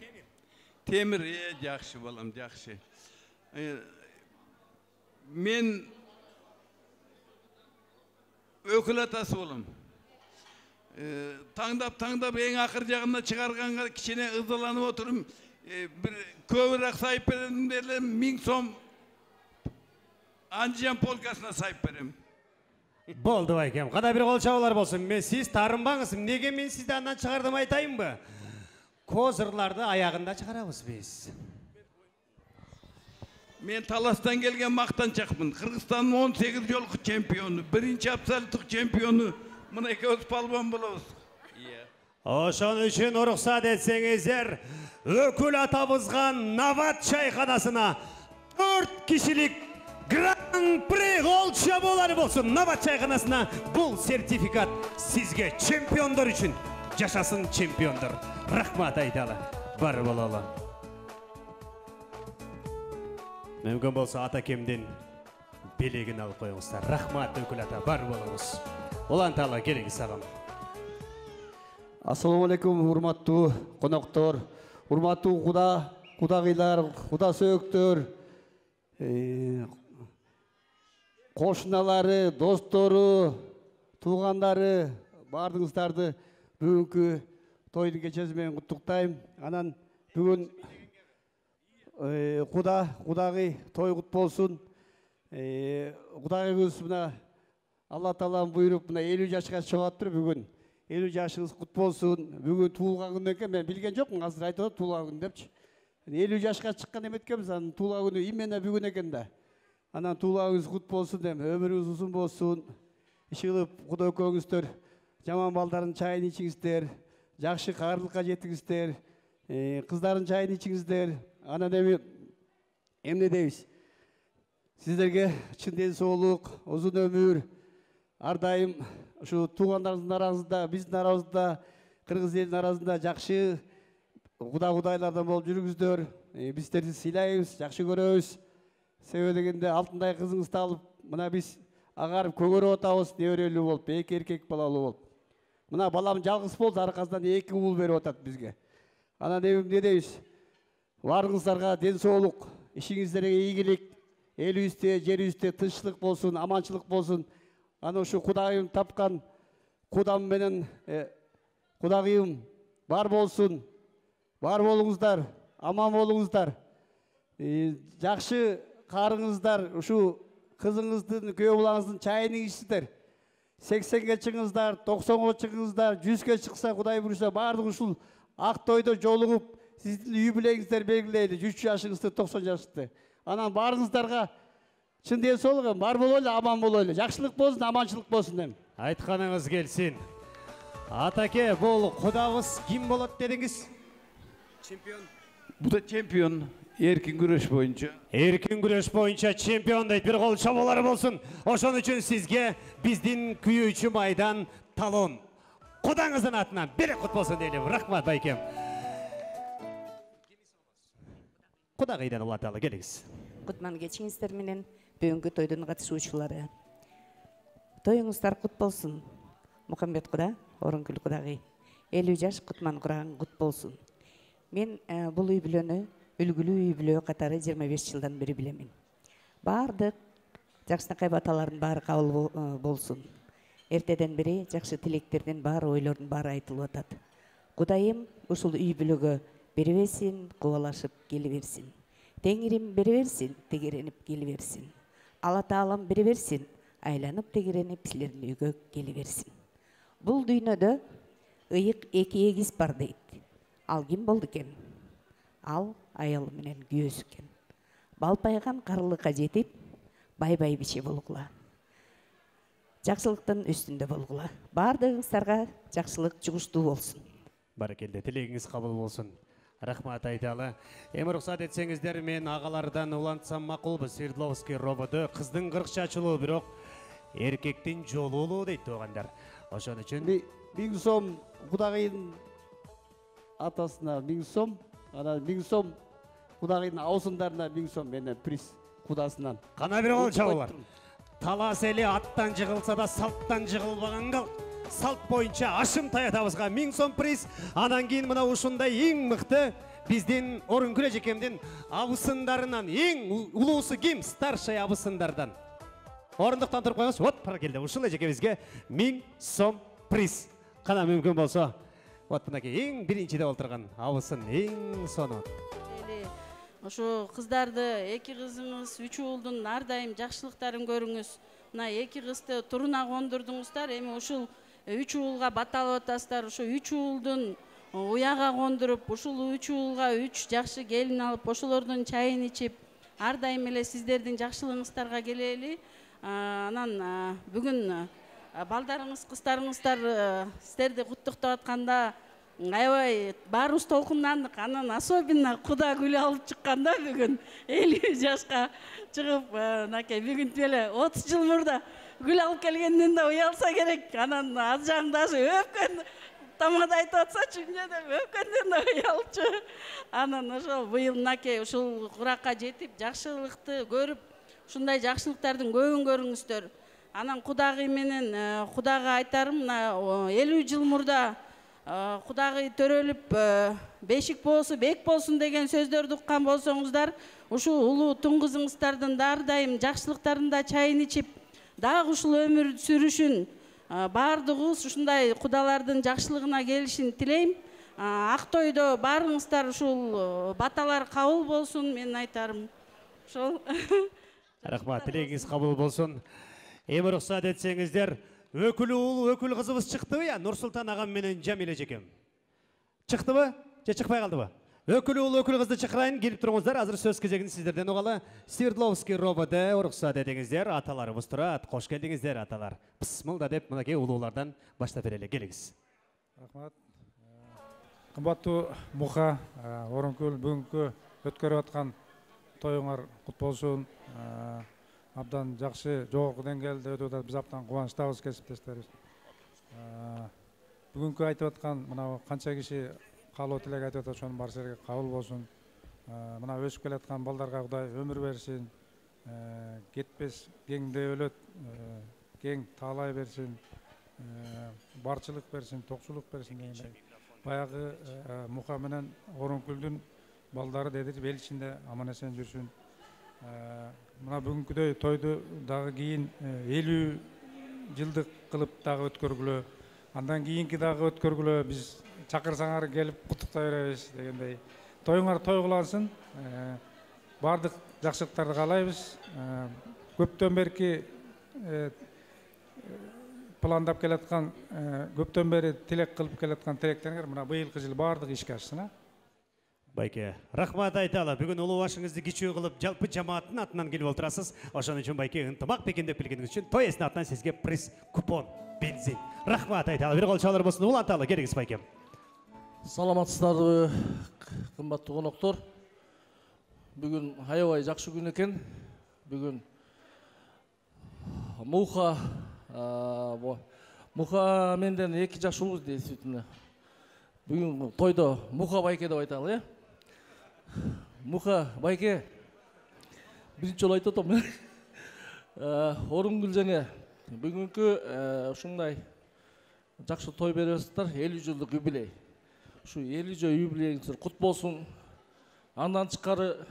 Темир. Жакшы балам, жакшы. Мен өкүл атасы болом. Таңдап эң акыр жагына чыгарганга кичине ызаланып отурум. Бир көбүрөөк сайып берем деле 1000 сом Андижан полкасына сайып берем. Болду байкем. Када бир кол чабуулар болсун. Мен сиз таарынбаңыз. Неге мен сизди андан чыгардым айтайынбы? Козырларды аягында чыгарабыз биз. Мен Таластан келген мактанчакмын. Кыргызстандын 18 жолку чемпиону, биринчи абсолюттук чемпиону. Мына экөөбүз палбан болобуз. Ошон үчүн уруксат этсеңиздер, өкүл атабызга Нават чайканасына 4 кишилик гран-при кол чабуулары болсун. Нават чайканасына бул сертификат сизге, чемпиондор үчүн. Жашасын чемпиондор. Рахмат айталы. Бар бололу. Мүмкүн болсо атакемдин белегин алып коюңуздар. Рахмат өкүл ата, бар болуңуз. Уланталы келиңиз сагам. Ассаламу алейкум, урматтуу коноктор, урматтуу кудагыйлар, куда сөөктөр, кошуналары, достору, туугандары, баардыгыңыздарды бүгүнкү тойдун кечеси менен куттуктайм. Анан бүгүн кудагый той кут болсун. Кудагыйыбыз мына Алла Таалам буйруп мына 50 жашка чыгаттыр бүгүн. 50 жашыңыз кут болсун. Бүгүн туулган күн экен, мен билген жокмун, азыр айтып атат туулган күн депчи. 50 жашка чыккан эметкенбиз, анын туулган күнү именно бүгүн экен да. Анан туулганыңыз кут болсун деп, өмүрүңүз узун болсун. Иши кылып Куда экөөңүздөр жаман балдардын чайын ичиңиздер, жакшы каарылыкка жетиңиздер, кыздардын чайын ичиңиздер. Анан эмне дейбиз? Сиздерге чын ден соолук, узун өмүр, ар дайым ушу туугандарыңыздын арасында, биздин арабызда, кыргыз элинин арасында жакшы кудайлардан болуп жүрүңүздөр. Биз сиздерди сыйлайбыз, жакшы көрөбүз. Себеби дегенде алтындай кызыңызды алып, мына биз агарып көгөрүп атабыз, неберелүү болуп, 2 эркек балалуу болуп. Мына балам жалгыз болду, аркасынан 2 уул берип атат бизге. Анан эмне дейбиз? Баарыңыздарга ден соолук, ишиңиздерге ийгилик, элибизде, жерибизде тынччылык болсун, аманчылык болсун. Аны ушу Кудайым тапкан кудам менен Кудагыйым бар болсун. Бар болуңуздар, аман болуңуздар. Жакшы карыңыздар, ушу кызыңыздын, күйөө балаңыздын чайын ичсиздер. 80-ге чыгыңыздар, 90-га чыгыңыздар, 100-ге чыкса Кудай буюрса баардыгы ушул ак тойдо жолугуп сиздин юбилейиңиздер белгилейли, 100 жашыңызды, 90 жашыңызды. Анан баарыңыздарга чын ден соолук, бар болойлу, аман болойлу. Жакшылык болсун, аманчылык болсун дем. Айтканыңыз келсин. Атаке, бул кудабыз ким болот дедиңиз? Чемпион. Бу да чемпион. Эркин күрөш боюнча. Эркин күрөш боюнча чемпион дейт. Бир кол чабуулары болсун. Ошон үчүн сизге биздин күйүүчү майдан талон. Кудаңыздын атынан бир кут болсун дейли. Рахмат байкем. Кудагыйдан улаталы келиңиз. Кутман кечиңиздер менен бүгүнкү тойдун катышуучулары. Тоюңуздар кут болсун. Мухаммед куда, Орункүл кудагый. 50 жаш Кутман кураган кут болсун. Мен бул үй бүлөнү үлгүлүү үй бүлө катары 25 жылдан бери билемин. Бардык жакшынакай баталардын баары кабыл болсун. Эртеден бери жакшы тилектердин баары, ойлордун баары айтылып атат. Кудайым ушул үй бүлөгө бере берсин, кубалашып келе берсин. Теңирим бере берсин, тегеренип келе берсин. Алла Таалам бере берсин, айланып тегеренип силердин үйгө келе берсин. Бул дүйнөдө ыйык эки эгиз бар дейт. Ал ким болду экен? Ал аялы менен күйөөсү экен. Балпайган карылыкка жетип, бай-бай биче болгула. Жакшылыктын үстүндө болгула. Бардыгыңыздарга жакшылык жугуштуу болсун. Баракелде, тилегиңиз кабыл болсун. Рахмат айталы. Эми уруксат этсеңиздер, мен агалардан улантсам макулбу. Свердловский рободо кыздын 40 чачылуу, бирок эркектин жолулуу дейт туугандар. Ошон үчүн 1000 сом кудагыйдын атасына 1000 сом, анан 1000 сом кудагыйдын аусундарына 1000 сом менен приз кудасынан. Кана бир кол чабуулар. Талас эли аттан жыгылса да салттан жыгылбаганга салт боюнча ашым таятабызга 1000 сом приз. Анан кийин мына ушундай эң мыкты биздин Орункүл эжекемдин абысындарынан эң улуусу ким? Старший абысындардан. Орындуктан туруп коюңуз. Вот баракелде, ушул эжекебизге 1000 сом приз. Кана мүмкүн болсо, вот мынакей эң биринчиде олтурган абысын эң сонун. Ошо кыздарды, эки кызыңыз, 3 уулдун ар дайым жакшылыктарын көрүңүз. Мына эки кызды туруна кондурдуңуздар. Эми ушул 3 уулга баталып атасыздар. Ошо 3 уулдун уяга кондуруп, ушул 3 уулга 3 жакшы келин алып, ошолордун чайын ичип, ар дайым эле сиздердин жакшылыгыңыздарга келели. Анан бүгүн балдарыңыз, кыздарыңыздар сиздерди куттуктап атканда аябай баарыбыз толкундандык. Анан особенно куда гүл алып чыкканда бүгүн 50 жашка чыгып, мынакей бүгүн эле 30 жыл мурда гүл алып келгенден да уялса керек. Анан аз жагын даже өпкөн тамада айтып атсачы, өпкөндөн да уялчу. Анан ошол быйыл мынакей ушул куракка жетип, жакшылыкты көрүп, ушундай жакшылыктардын көбүн көрүңүздөр. Анан кудагый менен кудага айтарым, мына 50 жыл мурда кудагый төрөлүп, бешик болсу бек болсун деген сөздөрдү уккан болсоңуздар, ушул улуу тун кызыңыздардын ар дайым жакшылыктарында чайын ичип, дагы ушул өмүр сүрүшүн баардыгыбыз ушундай кудалардын жакшылыгына келишин тилейм. Ак тойдо баарыңыздар ушул баталар кабыл болсун, мен айтарым. Ошол. Рахмат, тилегиңиз кабыл болсун. Эми уруксат этсеңиздер, өкүл уул, өкүл кызыбыз чыктыбы я? Нурсултан агам менен Жамил эжекем. Чыктыбы? Же чыкпай калдыбы? Өкүл уул, өкүл кызды чакырайын, келип туруңуздар. Азыр сөз кезегин сиздерден угалы. Свердловский рободо уруксат этиңиздер, аталарыбыз турат. Кош келдиңиздер, аталар. Бисмилда деп, мынакей улуулардан баштап берели. Келиңиз. Рахмат. Кымбаттуу Муха, Орункүл бүгүнкү өткөрүп аткан тоюңар кут болсун. Абдан жакшы, жогорку деңгээлде өтүп атат. Биз абдан кубанычтабыз, кесиптештерибиз. Бүгүнкү айтып аткан мына канча киши каалоо тилек айтып атат, ошонун баары силерге кабыл болсун. Мына өсүп келаткан балдарга Кудай өмүр берсин, кетпес кеңде өлөт, кең таалай берсин, барчылык берсин, токчулук берсин дегендей. Баягы Муха менен Орункүлдүн балдары дедир эл ичинде аман эсен жүрсүн. Мына бүгүнкүдөй тойду дагы кийин 50 жылдык кылып дагы өткөргүлө, андан кийинки дагы өткөргүлө, биз чакырсаңар келип куттуктай беребиз дегендей. Тоюңар той кылансын, бардык жакшылыктарды каалайбыз. Көптөн берки пландап келаткан, көптөн бери тилек кылып келаткан тилектериңер мына быйылкы жыл бардыгы ишке ашсын. Байке, рахмат айталы. Бүгүн улуу башыңызды кичүү кылып, жалпы жамааттын атынан келип отурасыз. Ошон үчүн байке ынтымак бекемдеп келгениңиз үчүн той эсне атынан сизге приз, купон, бензин Рахмат айталы. Бир кол чалыр болсун. Уланталы келиңиз байкем. Саламатсыздарбы, кымбаттуу коноктор. Бүгүн аябай жакшы күн экен. Бүгүн Муха менден 2 жаш улуу действительно. Бүгүн тойдо Муха байке деп айталы, э? Муха байке. Биринчи жолу айтып атам. Орынгүл жеңе бүгүнкү ушундай жакшы той берип атасыздар, 50 жылдык юбилей. Ушу 50 жыл юбилейиңиздер кут болсун. Андан тышкары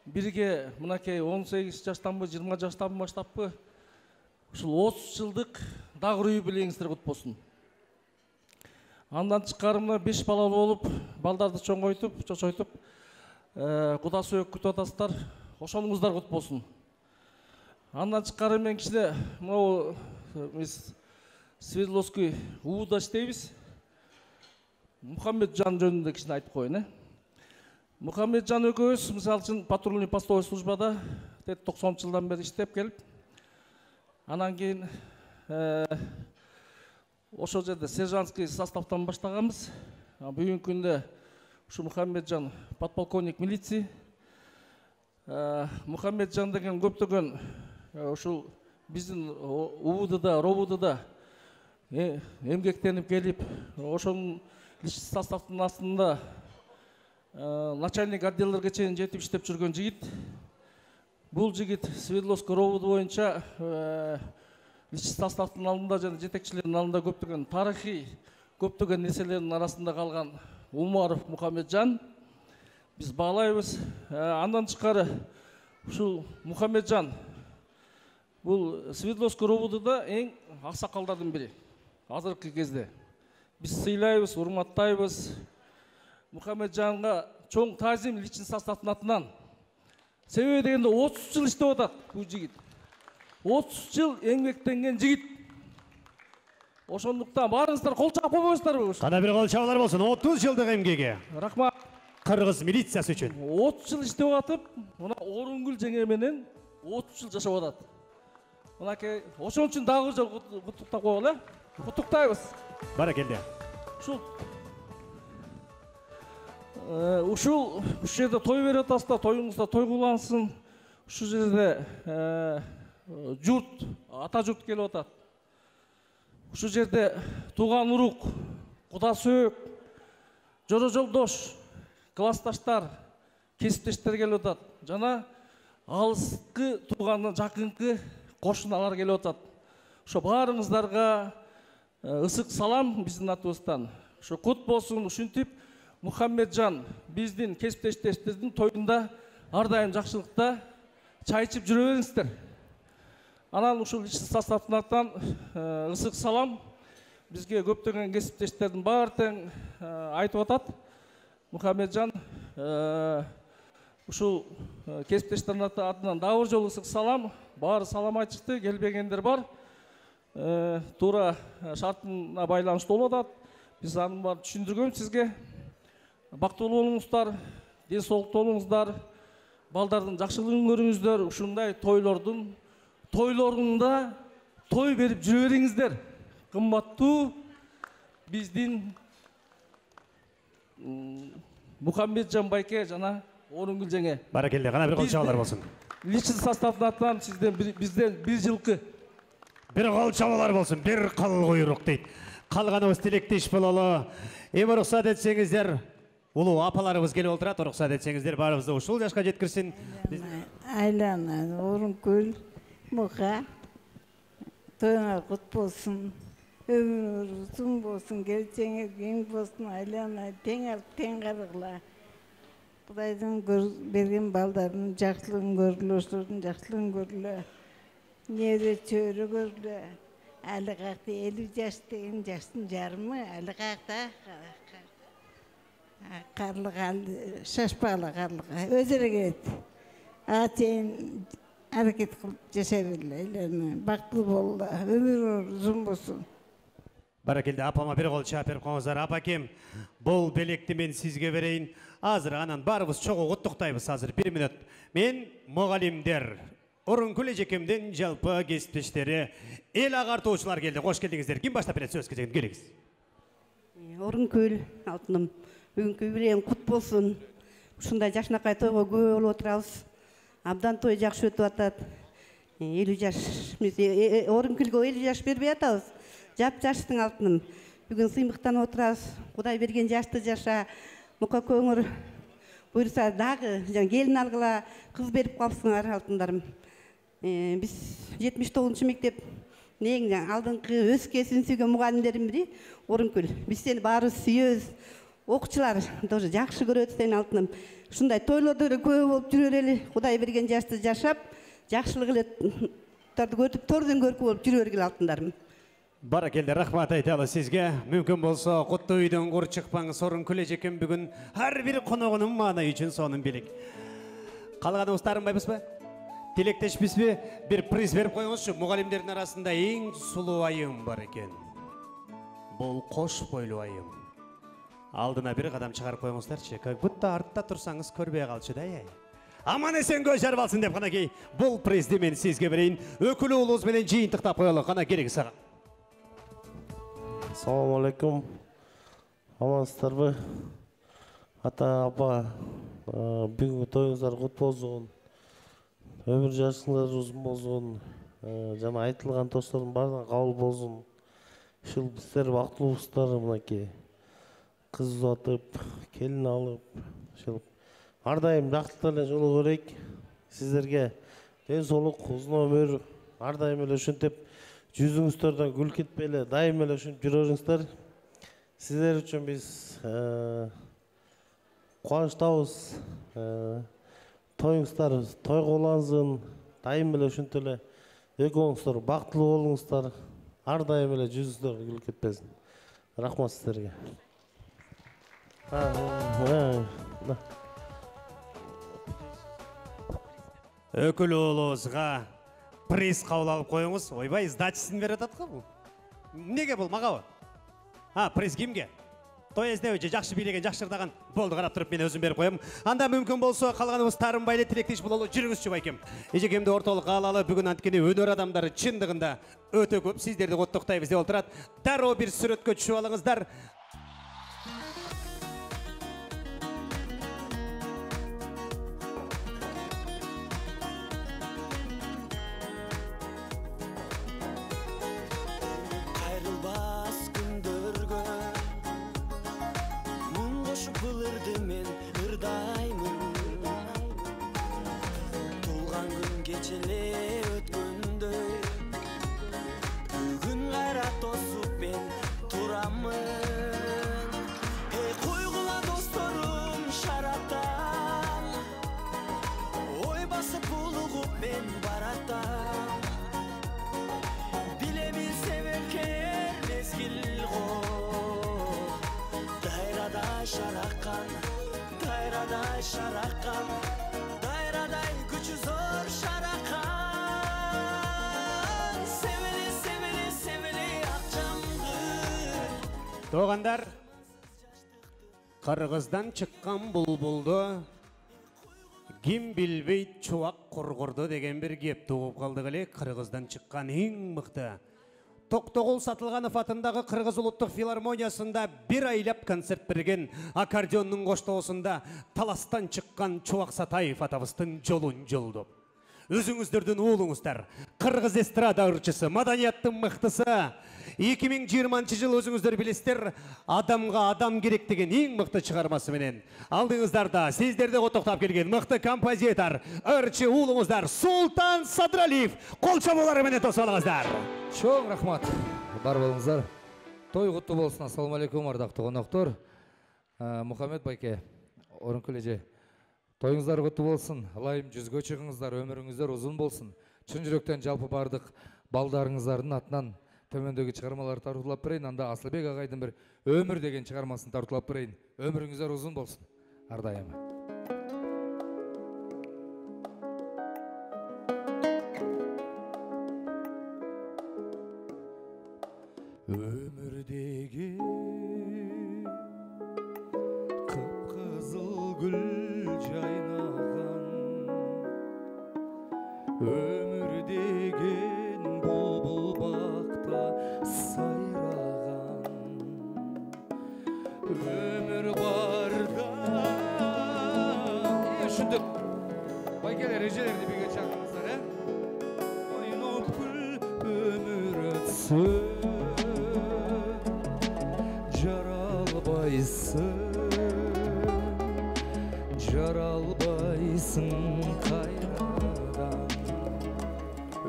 бирге мынакей 18 жаштанбы, 20 жаштанбы баштаппы? Ушул 30 жылдык дагы юбилейиңиздер кут болсун. Андан тышкары мына 5 бала болуп, балдарды чоңойтуп, чочойтуп, Куда сүйөк күтүп атасыздар. Ошонуңуздар кут болсун. Андан тышкары мен кичине могу Свердловский УУда иштейбиз. Мухаммеджан жөнүндө кичине айтып коеюн, Мухаммеджан экөөбүз мисалы үчүн патрульный постовой службада 90 жылдан бери иштеп келип, анан кийин ошол жерде сержантский составтан баштаганбыз. Бүгүнкү күндө ушу Мухаммеджан подполковник милиции. Мухаммеджан деген көптөгөн ушул биздин УУДда, РОБУДда эмгектенип келип, ошонун составтын астында начальник отделдерге чейин жетип иштеп жүргөн жигит. Бул жигит Свердловский РОБУД боюнча составтын алдында жана жетекчилердин алдында көптөгөн тарыхый, көптөгөн нерселердин арасында калган Умаров Мухаммеджан. Биз баалайбыз. Андан тышкары ушул Мухаммеджан бул Свердловский РОБУДда эң аксакалдардын бири азыркы кезде. Биз сыйлайбыз, урматтайбыз. Мухаммеджанга чоң таазим личный составтын атынан. Себеби дегенде 30 жыл иштеп атат бул жигит. 30 жыл эмгектенген жигит. Ошондуктан баарыңыздар кол чаап койбойсуздарбы? Кана бир кол чабуулар болсун. 30 жылдык эмгеге. Рахмат. Кыргыз милициясы үчүн. 30 жыл иштеп атып, мына Орынгүл жеңе менен 30 жыл жашап атат. Мынакей ошон үчүн дагы жол куттуктап коелу, Куттуктайбыз. Баракелде. Ушул жерде той берип атасыздар, тоюңузда той кулансын. Ушул жерде журт, ата журт келип атат. Ушул жерде тууган урук, куда сөөк, жора жолдош, классташтар, кесиптештер келип атат. Жана алыскы туугандан жакынкы кошуналар келип атат. Ошо баарыңыздарга ысык салам биздин атыбыздан. Ошо кут болсун. Ушинтип Мухаммеджан биздин кесиптештерибиздин тоюнда ар дайым жакшылыкта чай ичип жүрө бериңиздер. Анан ушул составтын атынан ысык салам. Бизге көптөгөн кесиптештердин баары тең айтып атат. Мухаммеджан ушул кесиптештердин атынан дагы бир жолу ысык салам. Баары салам айтышты, келбегендер бар. Туура шартына байланыштуу болуп атат. Биз анын баарын түшүндүргөнбүз сизге. Бактылуу болуңуздар, ден соолуктуу болуңуздар, балдардын жакшылыгын көрүңүздөр. Ушундай тойлорунда той берип жүрө бериңиздер. Кымбаттуу биздин Мухаммеджан байке жана Орынгүл жеңе. Баракелде, кана бир кол чабуулар болсун. Личный составтын атынан бизден 1 жылкы. Бир кол чабуулар болсун, бир кыл куйрук дейт. Калганыбыз тилектеш бололу. Эми уруксат этсеңиздер, улуу апаларыбыз келип отурат, уруксат этсеңиздер, баарыбызды ушул жашка жеткирсин. Айлана, Орынгүл, Муха, тоюңар кут болсун, өмүрүңөр узун болсун, келечегиңер кең болсун, айлана тең карыгыла. Кудайдын берген балдардын жакшылыгын көргүлө, ошолордун жакшылыгын көргүлө. Нере чөйрө көргүлө. Али какты 50 жаш деген жаштын жарымы, али какта карлыга, шашпагыла карлыга өзүрө келет. Чейин аракет кылып жашай бергиле, бактылуу болгула, өмүрүңөр узун болсун. Баракелде, апама бир кол чаап берип коңуздар. Апакем, бул белекти мен сизге берейин. Азыр анан баарыбыз чогуу куттуктайбыз. Азыр 1 мүнөт. Мен мугалимдер Орункүл эжекемден жалпы кесиптештери, эл агартуучулар келди. Кош келдиңиздер. Ким баштап берет сөз кезегин? Келиңиз. Орункүл алтыным, бүгүнкү юбилейиң кут болсун. Ушундай жашынакай тойго күбө болуп отурабыз. Абдан той жакшы өтүп атат. 50 жаш, Орункүлгө 50 жаш бербей атабыз. Жап-жаштың алтыным. Бүгүн сыймыктанып отурабыз. Кудай берген жашты жаша. Мука көңүр буйруса дагы келин алгыла, кыз берип калсыңар алтындарым. Биз 79 мектеп нең алдыңкы өскө сүнсүгөн мугалимдердин бири Орункүл. Биз сени баарыбыз сүйөбүз. Окуучулар тоже жакшы көрөт сени алтыным. Ушундай тойлордо эле көп болуп жүрө бергиле. Кудай берген жашты жашап, жакшылык эле көрүп, тордон көркү болуп жүрө бергиле алтындарым. Баракелде, рахмат айталы сизге. Мүмкүн болсо куттуу үйдөн кур чыкпаңыз. Орункүл эжекем бүгүн ар бир коногунун маанай үчүн сонун билик. Калганыбыз таарынбайбызбы? Тилектешпизби? Бир приз берип коюңузчу. Мугалимдердин арасында эң сулуу айым бар экен. Бул кош бойлуу айым. Алдына бир кадам чыгарып коюңуздарчы. Как будто артта турсаңыз көрбөй калчу да. Аман эсен көз жарып алсын деп канакей. Бул призди мен сизге берейин. Өкүлү улуубуз менен жыйынтыктап коелу. Кана керек сага. Assalamu alaikum. Амансыздарбы? Ата, апа, бүгүнкү тоюңуздар кут болсун. Өмүр жашыңыздар узун болсун. Жана айтылган тоштордун баарына кабыл болсун. Ушул биздер бактылуубуздар мынакей. Кыз uzatып, келин алып, ушул ар дайым жактылыкта эле жолуга берейик. Сиздерге ден соолук, узун өмүр, ар дайым эле ушинтип жүзүңүздөрдөн гүл кетпей эле дайым эле ушинтип жүрө бериңиздер. Сиздер үчүн биз кубанычтабыз. Тоюңуздар тойго улансын, дайым эле ушинтип эле экөөңүздөр бактылуу болуңуздар, ар дайым эле жүзүңүздөр гүл кетпесин. Рахмат сиздерге. Өкүл уулубузга приз кабыл алып коюңуз. Ойбай, сдачасын берип атат го бул. Эмнеге бул магабы? Приз кимге? Той эздебичи жакшы бийлеген, жакшырдаган. Болду, карап туруп мен өзүм берип коем. Анда мүмкүн болсо калганыбыз таарынбай эле тилектеш бололу. Жүрүңүзчү байкем. Эжекемди ортолукка алалы. Бүгүн анткени өнөр адамдары чындыгында өтө көп. Сиздерди коттуктайбыз деп отурат. Дароо бир сүрөткө түшүп алыңыздар. Şarakan, dayraday gücü zor şarakan. Sevili, sevili, sevili akçamdı. Doğanlar, Kırgızdan çıkkan bulbuldu. Kim bilbeyt çuvak kurgurdu degen bir gep doğup kaldı gele. Kırgızdan çıkkan en mıқты. Токтогул Сатылганов атындагы Кыргыз улуттук филармониясында бир айлап концерт берген аккордеондун коштоосунда таластан чыккан Чубак Сатаев атабыздын жолун жолдоп. Өзүңүздөрдүн уулуңуздар, Кыргыз эстрада ырчысы, маданияттын мыктысы. 2020 жыл өзүңүздөр билесиздер, адамга адам керек деген эң мыкты чыгармасы менен алдыңыздарда сиздерди коттоктоп келген мыкты композитор, ырчы уулуңуздар Султан Садыралиев кол чабуулары менен тосуп алыңыздар. Чоң рахмат. Бар болуңуздар. Той куттуу болсун. Ассаламу алейкум, ардактуу коноктор. Мухаммед байке, Орункүл эже, тоюңуздар куттуу болсун. Ылайым жүзгө чыгыңыздар, өмүрүңүздөр узун болсун. Чын жүрөктөн жалпы бардык балдарыңыздардын атынан төмөндөгү чыгармаларды тартуулап берейин. Анда Асылбек агайдын бир өмүр деген чыгармасын тартуулап берейин. Өмүрүңүздөр узун болсун. Ар дайым. Өмүрдеги кыпкызыл гүл жайнаган түшүндүк. Байкелер, эжелерди бирге чакырыңыздар, Ойноп гүл өмүр өтсө, жаралбайсың кайрадан.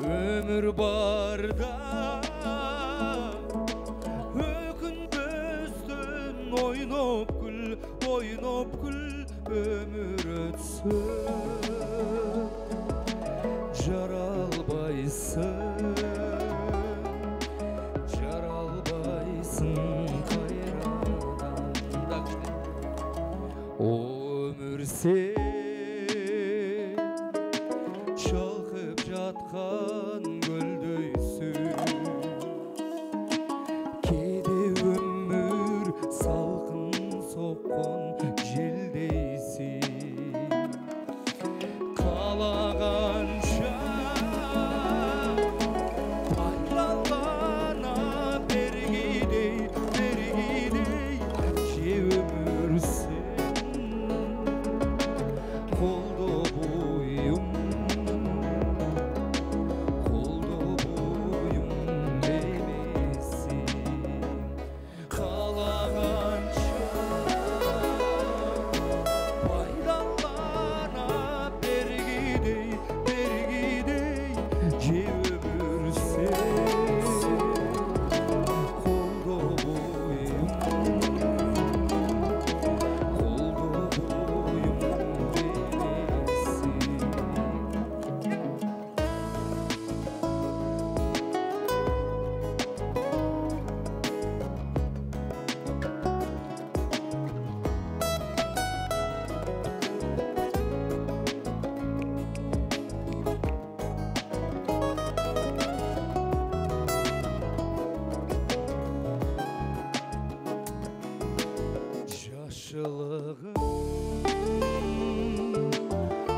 Өмүр барда өкүнбөстөн ойноп гүл өмүр өтсө, жаралбайсың кайрадан. Өмүр сен чалкып жаткан көлдөйсүң, кээде өмүр салкын соккон желдейсиң. Каалаганча байланбана бергидей, же өмүр колдо буюм эмесиң. Каалаганча байланбана бергидей, же өмүр колдо буюм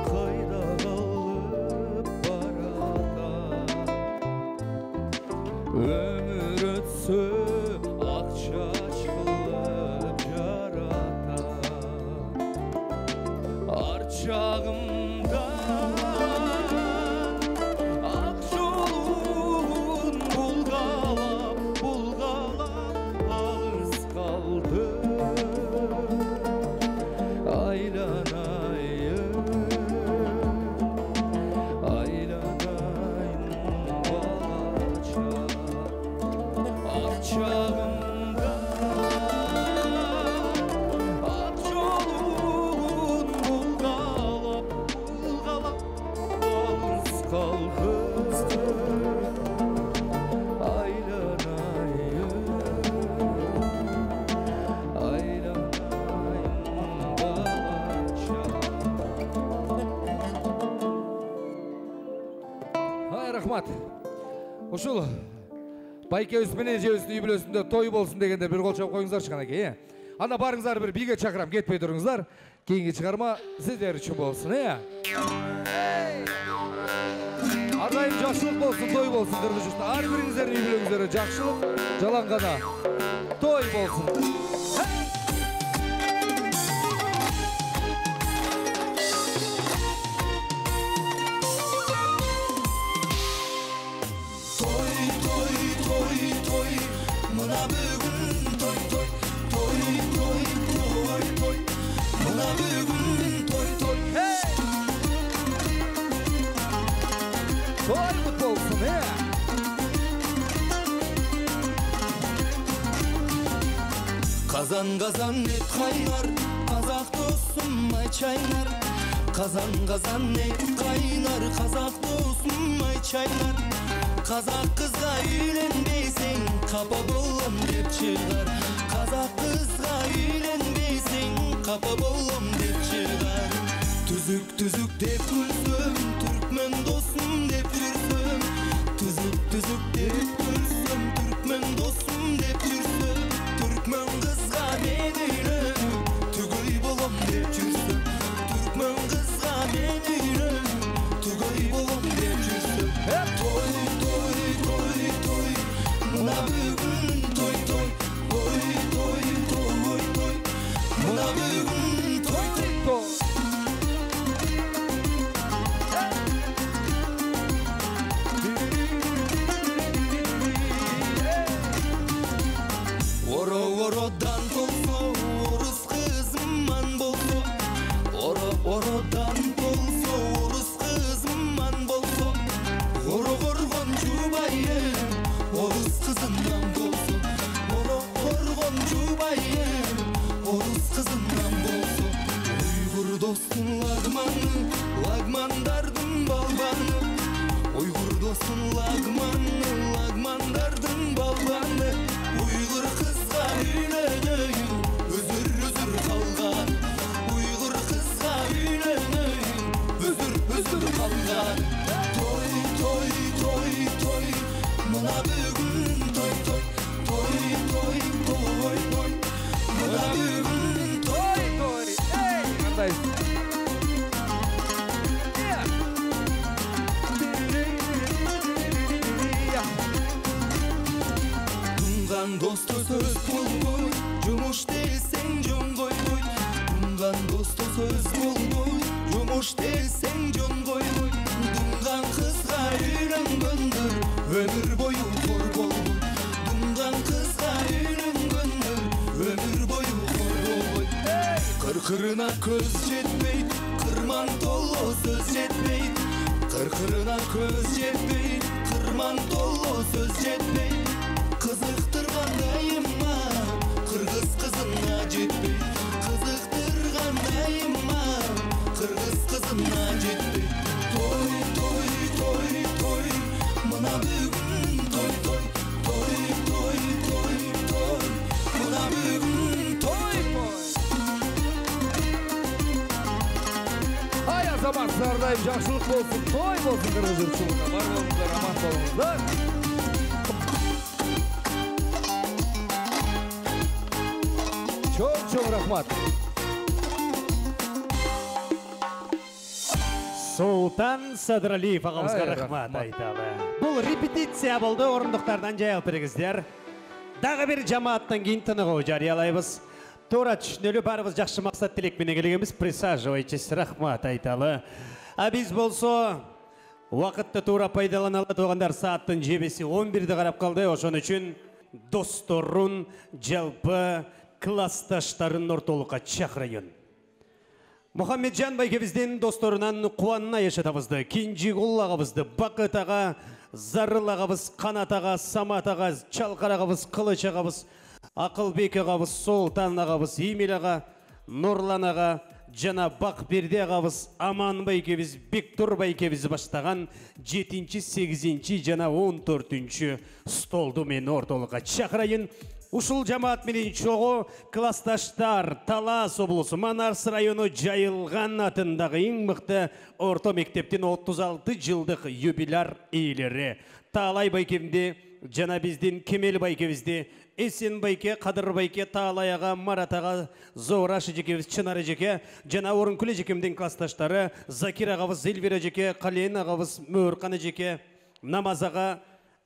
кайда калып баратат. Өмүр өтсө ак чач кылып жаратат. Ар чагымда ак жолун булгалап алыс калды. Aylanayım balaca, ak çağımda ak yolun bulgalap alız kaldı. Рахмат. Ушул байкебиз менен эжебиздин үй бүлөсүндө той болсун дегенде бир кол чап коюңуздарчы канакей. Анда барыңыздар бир биге чакырам, кетпей туруңуздар. Кийинки чыгарма сиздер үчүн болсун, Ар дайым жакшылык болсун, той болсун дыргыжышта. Ар бириңиздердин үй бүлөңүздөргө жакшылык, жалаң гана той болсун. Mına bugün toy toy Mına bugün toy Toy mutlu olsun Kazan kazan et kaynar Kazak dostum ay çaynar Kazan kazan et kaynar Kazak dostum ay çaynar Kazak kızga үйленбейсең Kapa bolom dep çıgar Kazak kızga үйленбейсең Kapa bolom dep çıgar Tüzük tüzük dep gülsüm Türkmen dostum dep yürsüm Tüzük tüzük dep gülsüm Türkmen dostum dep yürsüm Türkmen kızga men uylen Tügöy bolom dep yürsüm Türkmen kızga men uylen Tügöy bolom dep yürsüm Toy Mına bugün toy Mına bugün toy достун лагманы, лагмандардын балбаны. Уйгур достун лагманы, лагмандардын балбаны. Уйгур кызга үйлөнөйүн, өзүр калган. Уйгур кызга үйлөнөйүн, өзүр калган. Той, той, той, той, мына бүгүн той, той. Той, той, той, той, мына бүгүн той, той. Кандай? Тунган досто сөз болбой, жумуш десең жон койбой. Тунган досто сөз болбой, жумуш десең жон койбой. Тунган кызга үйлөнгөндөр өмүр бою кор болбой. Тунган кызга үйлөнгөндөр өмүр бою кор болбой. Кыркырына көз жетпейт, кырман толо сөз жетпейт. Кыркырына көз жетпейт, кырман толо сөз жетпейт. Кызыктыргандайыма кыргыз кызына жетпейт. Кызыктыргандайыма кыргыз кызына жетпейт. Той, той, той, той, мына бүгүн той, той. Той, той, той, той, мына бүгүн той, той. Ай азаматсыздар, ардайым жакшылык болсун, той болсун кыргыз журтчулугуна. Бар болуңуздар, аман болуңуздар. Чоң рахмат. Султан Садыралиев ағамызға рахмат айталы. Бұл репетиция болды, орындықтардан жайылып бірігіздер. Дағы бір жамааттан кейін тынығы жариялайбыз. Тура түшінелі барыбыз жақшы мақсат тілекпене келгенбіз. Присаживайтесь, рахмат айталы. А біз болсо уақытты тура пайдаланалы тоғандар сааттың жебесі 11-ді қарап қалды. Ошон үшін досторун, жалпы классташтарын ортолыққа чакырайын. Мухаммеджан байкебиздин досторунан кубанына yaşatабызды. Кинжигул агабызды, Бакыт ага, Зарыл агабыз, Канат ага, Самат ага, Чалкар агабыз, Кылыч агабыз, Акылбек агабыз, Султан агабыз, Имел ага, Нурлан ага, жана Бакберди агабыз, Аман байкебиз, Бектур байкебиз баштаган 7-8 жана 14 столду мен ортолукка чакырайын. Ушул жамаат менен чогуу классташтар Талас облусу Манарс району Жайылган атындагы эң мыкты орто мектептин 36 жылдык юбиляр ээлери Таалай байкемди жана биздин Кемел байкебизди, Эсен байке, Кадыр байке, Таалай ага, Марат ага, Зоора жекебиз, Чынар жеке жана Орункүл жекемдин классташтары Закир агабыз, Элвира жеке, Кален агабыз, Мөөркан жеке, Намаз ага,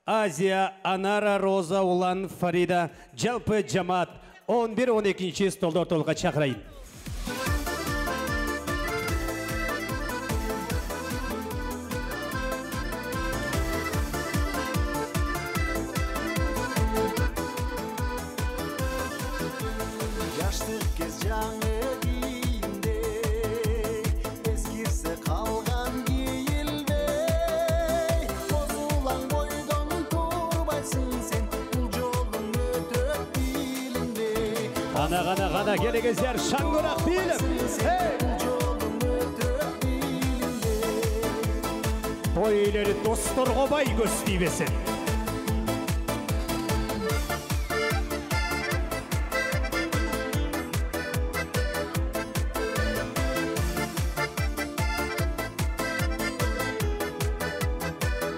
Азия, Анара, Роза, Улан, Фарида, жалпы жамаат 11-12 столду ортолукка чакырайын. Жаштык кез жаңы кийимде, эскирсе калган кийилбей. Козулаң бойдон турбайсың сен, бул жолдун өтөп билинбей. Гана келегездер шаңгырак билим. Той ээлери досторго бай көз тийбесин.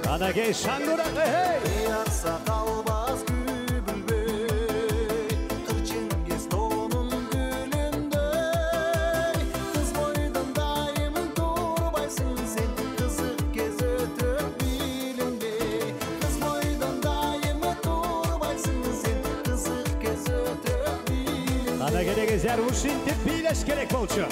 Анагей шаңгырак, Ятса калбас күбүлбөй, Кырчынгез тоонун гүлүндөй. Кыз бойдон дайым турбайсың сен, кызык кез өтөп билинбей. Кыз бойдон дайым турбайсың сен, кызык кез өтөп билинбей. Ана келегездер ушинтип бийлеш керек болчу.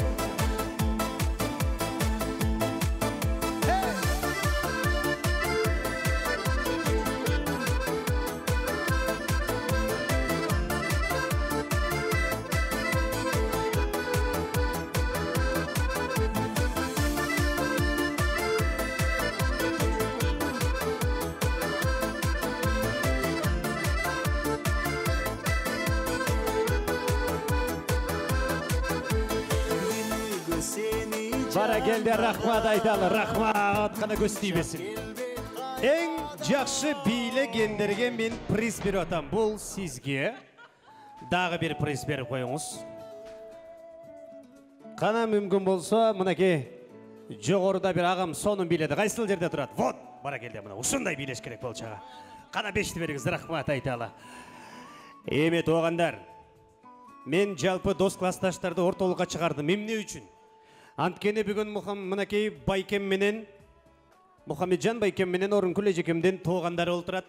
мени Баракелде, рахмат айталы, рахмат, кана көз тийбесин. Эң жакшы бийлегендерге мен приз берип атам. Бул сизге дагы бир приз берип коюңуз. Кана мүмкүн болсо, мынакей жогоруда бир агам сонун бийледи. Кайсыл жерде турат? Вот, баракелде, мына ушундай бийлеш керек болчу ага. Кана 5ти бериңиз, рахмат айталы. Эми туугандар, мен жалпы дос классташтарды ортолукка чыгардым. Эмне үчүн? Анткени бүгүн мынакей байкем менен Мухаммеджан байкем менен Орункүл эжекемдин туугандары олтурат.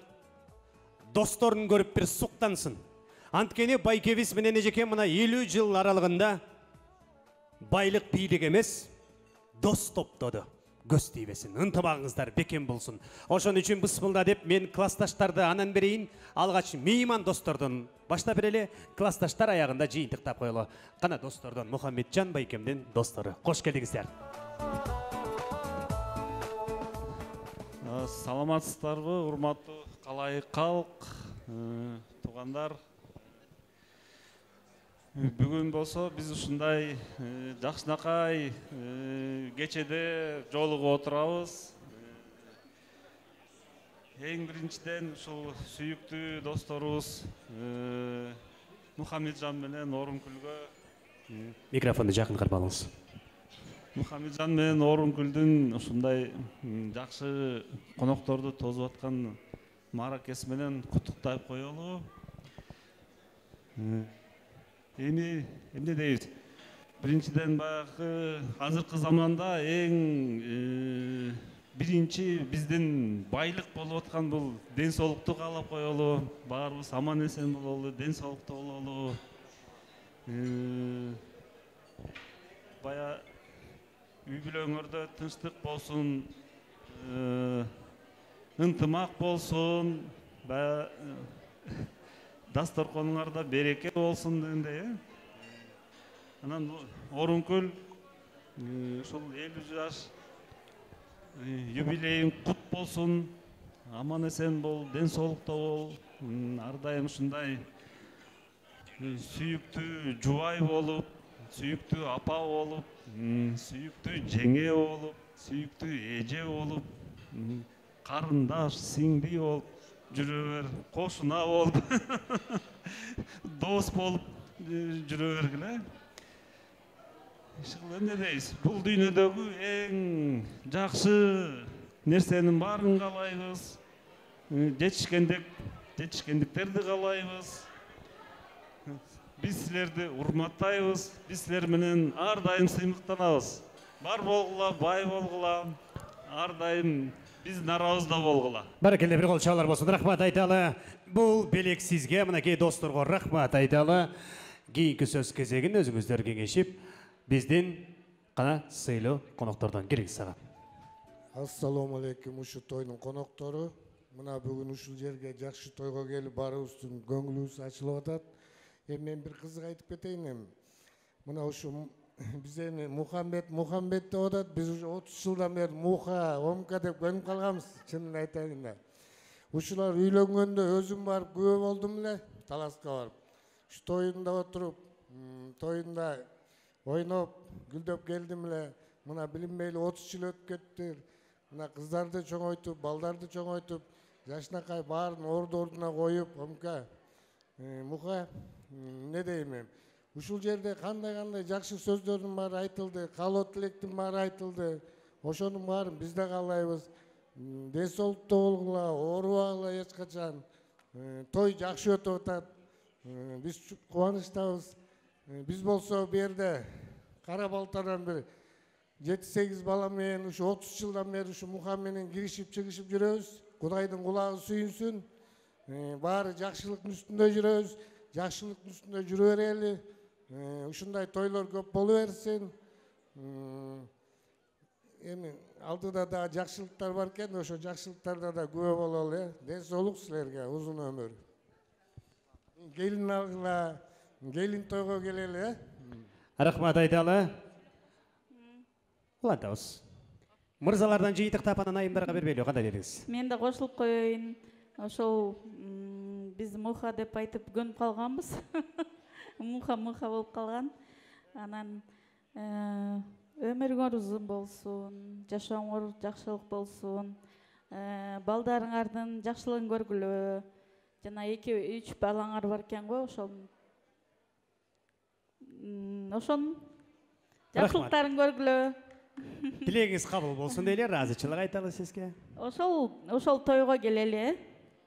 Досторун көрүп бир суктансын. Анткени байкебиз менен эжекем мына 50 жыл аралыгында байлык бийлик эмес, дос топтоду. Көз тийбесин, ынтымагыңыздар бекем болсун. Ошон үчүн бысмылда деп мен классташтарды анан берейин, алгач мейман достордон баштап берели, классташтар аягында жыйынтыктап коелу. Кана достордон Мухаммеджан байкемдин достору. Кош келдиңиздер. Саламатсыздарбы, урматтуу калай калк, туугандар. Бүгүн болсо биз ушундай жакшынакай кечеде жолугуп отурабыз. Эң биринчиден ушул сүйүктүү досторубуз Мухаммеджан менен Орункүлгө. Микрофонду жакын карап алыңыз. Мухаммеджан менен Орункүлдүн ушундай жакшы конокторду тосуп аткан мааракеси менен куттуктап коелу. Эмне дейбиз? Биринчиден баягы азыркы заманда эң биринчи биздин байлык болуп аткан бул ден соолукту каалап коелу. Баарыбыз аман эсен бололу, ден соолукта бололу. Бая үй бүлөңөрдө тынчтык болсун, ынтымак болсун, бая дасторконуңарда береке болсун дегендей. Анан Орункүл ушул 50 жаш юбилейиң кут болсун, аман эсен бол, ден соолукта бол, ар дайым ушундай сүйүктүү жубай болуп, сүйүктүү апа болуп, сүйүктүү жеңе болуп, сүйүктүү эже болуп, карындаш, сиңди болуп жүрө бер, кошуна болуп, дос болуп жүрө бергиле. Ишкыл эмне дейбиз? Бул дүйнөдөгү эң жакшы нерсенин баарын каалайбыз. Жетишкендиктерди каалайбыз. Биз силерди урматтайбыз. Биз силер менен ар дайым сыймыктанабыз. Бар болгула, бай болгула, ар дайым биздин арабызда болгула. Баракелде, бир кол чабуулар болсун. Рахмат айталы. Бул белек сизге, мынакей досторго рахмат айталы. Кийинки сөз кезегин өзүңүздөр кеңешип, биздин кана сыйлуу коноктордон келиңиз сага. Ассаламу алейкум, ушу тойдун коноктору. Мына бүгүн ушул жерге жакшы тойго келип баарыбыздын көңүлүбүз ачылып атат. Мен бир кызык айтып кетейин. Мына ушу биз эми Мухаммед деп атат. Биз уже 30 жылдан бери Муха, Омка деп көнүп калганбыз, чынын айтайын да. Ушулар үйлөнгөндө өзүм барып күбө болдум эле, Таласка барып. Ушу тоюнда отуруп, тоюнда ойноп, гүлдөп келдим эле. Мына билинбейли 30 жыл өтүп кетти. Мына кыздарды чоңойтуп, балдарды чоңойтуп, жашынакай баарын орду-ордуна коюп, Омка, Муха, эмне дейм мен? Ушул жерде кандай жакшы сөздөрдүн баары айтылды, каалоо тилектин баары айтылды. Ошонун баарын биз да каалайбыз. Ден соолукта болгула, оорубагыла эч качан. Той жакшы өтүп атат. Биз кубанычтабыз. Биз болсо бу жерде кара балтадан бир 7-8 бала менен ушу 30 жылдан бери ушу Муха менен киришип чыгышып жүрөбүз. Кудайдын кулагы сүйүнсүн. Баары жакшылыктын үстүндө жүрөбүз. Жакшылыктын үстүндө жүрө берели. Ушундай тойлор көп боло берсин. Эми алдыда да жакшылыктар бар экен, ошо жакшылыктарда да күбө бололу. Ден соолук силерге, узун өмүр. Келин алгыла, келин тойго келели. Рахмат айталы. Улантабыз. Мырзалардан жыйынтыктап анан айымдарга бербейлүү, кандай дедиңиз? Мен да кошулуп коеюн. Ошол биз Муха деп айтып көнүп калганбыз. Муха болуп калган. Анан өмүрүңөр узун болсун, жашооңор жакшылык болсун, балдарыңардын жакшылыгын көргүлө. Жана 2-3 балаңар бар экен го, ошонун жакшылыктарын көргүлө. Тилегиңиз кабыл болсун дейле, ыраазычылык айталы сизге. Ошол тойго келели,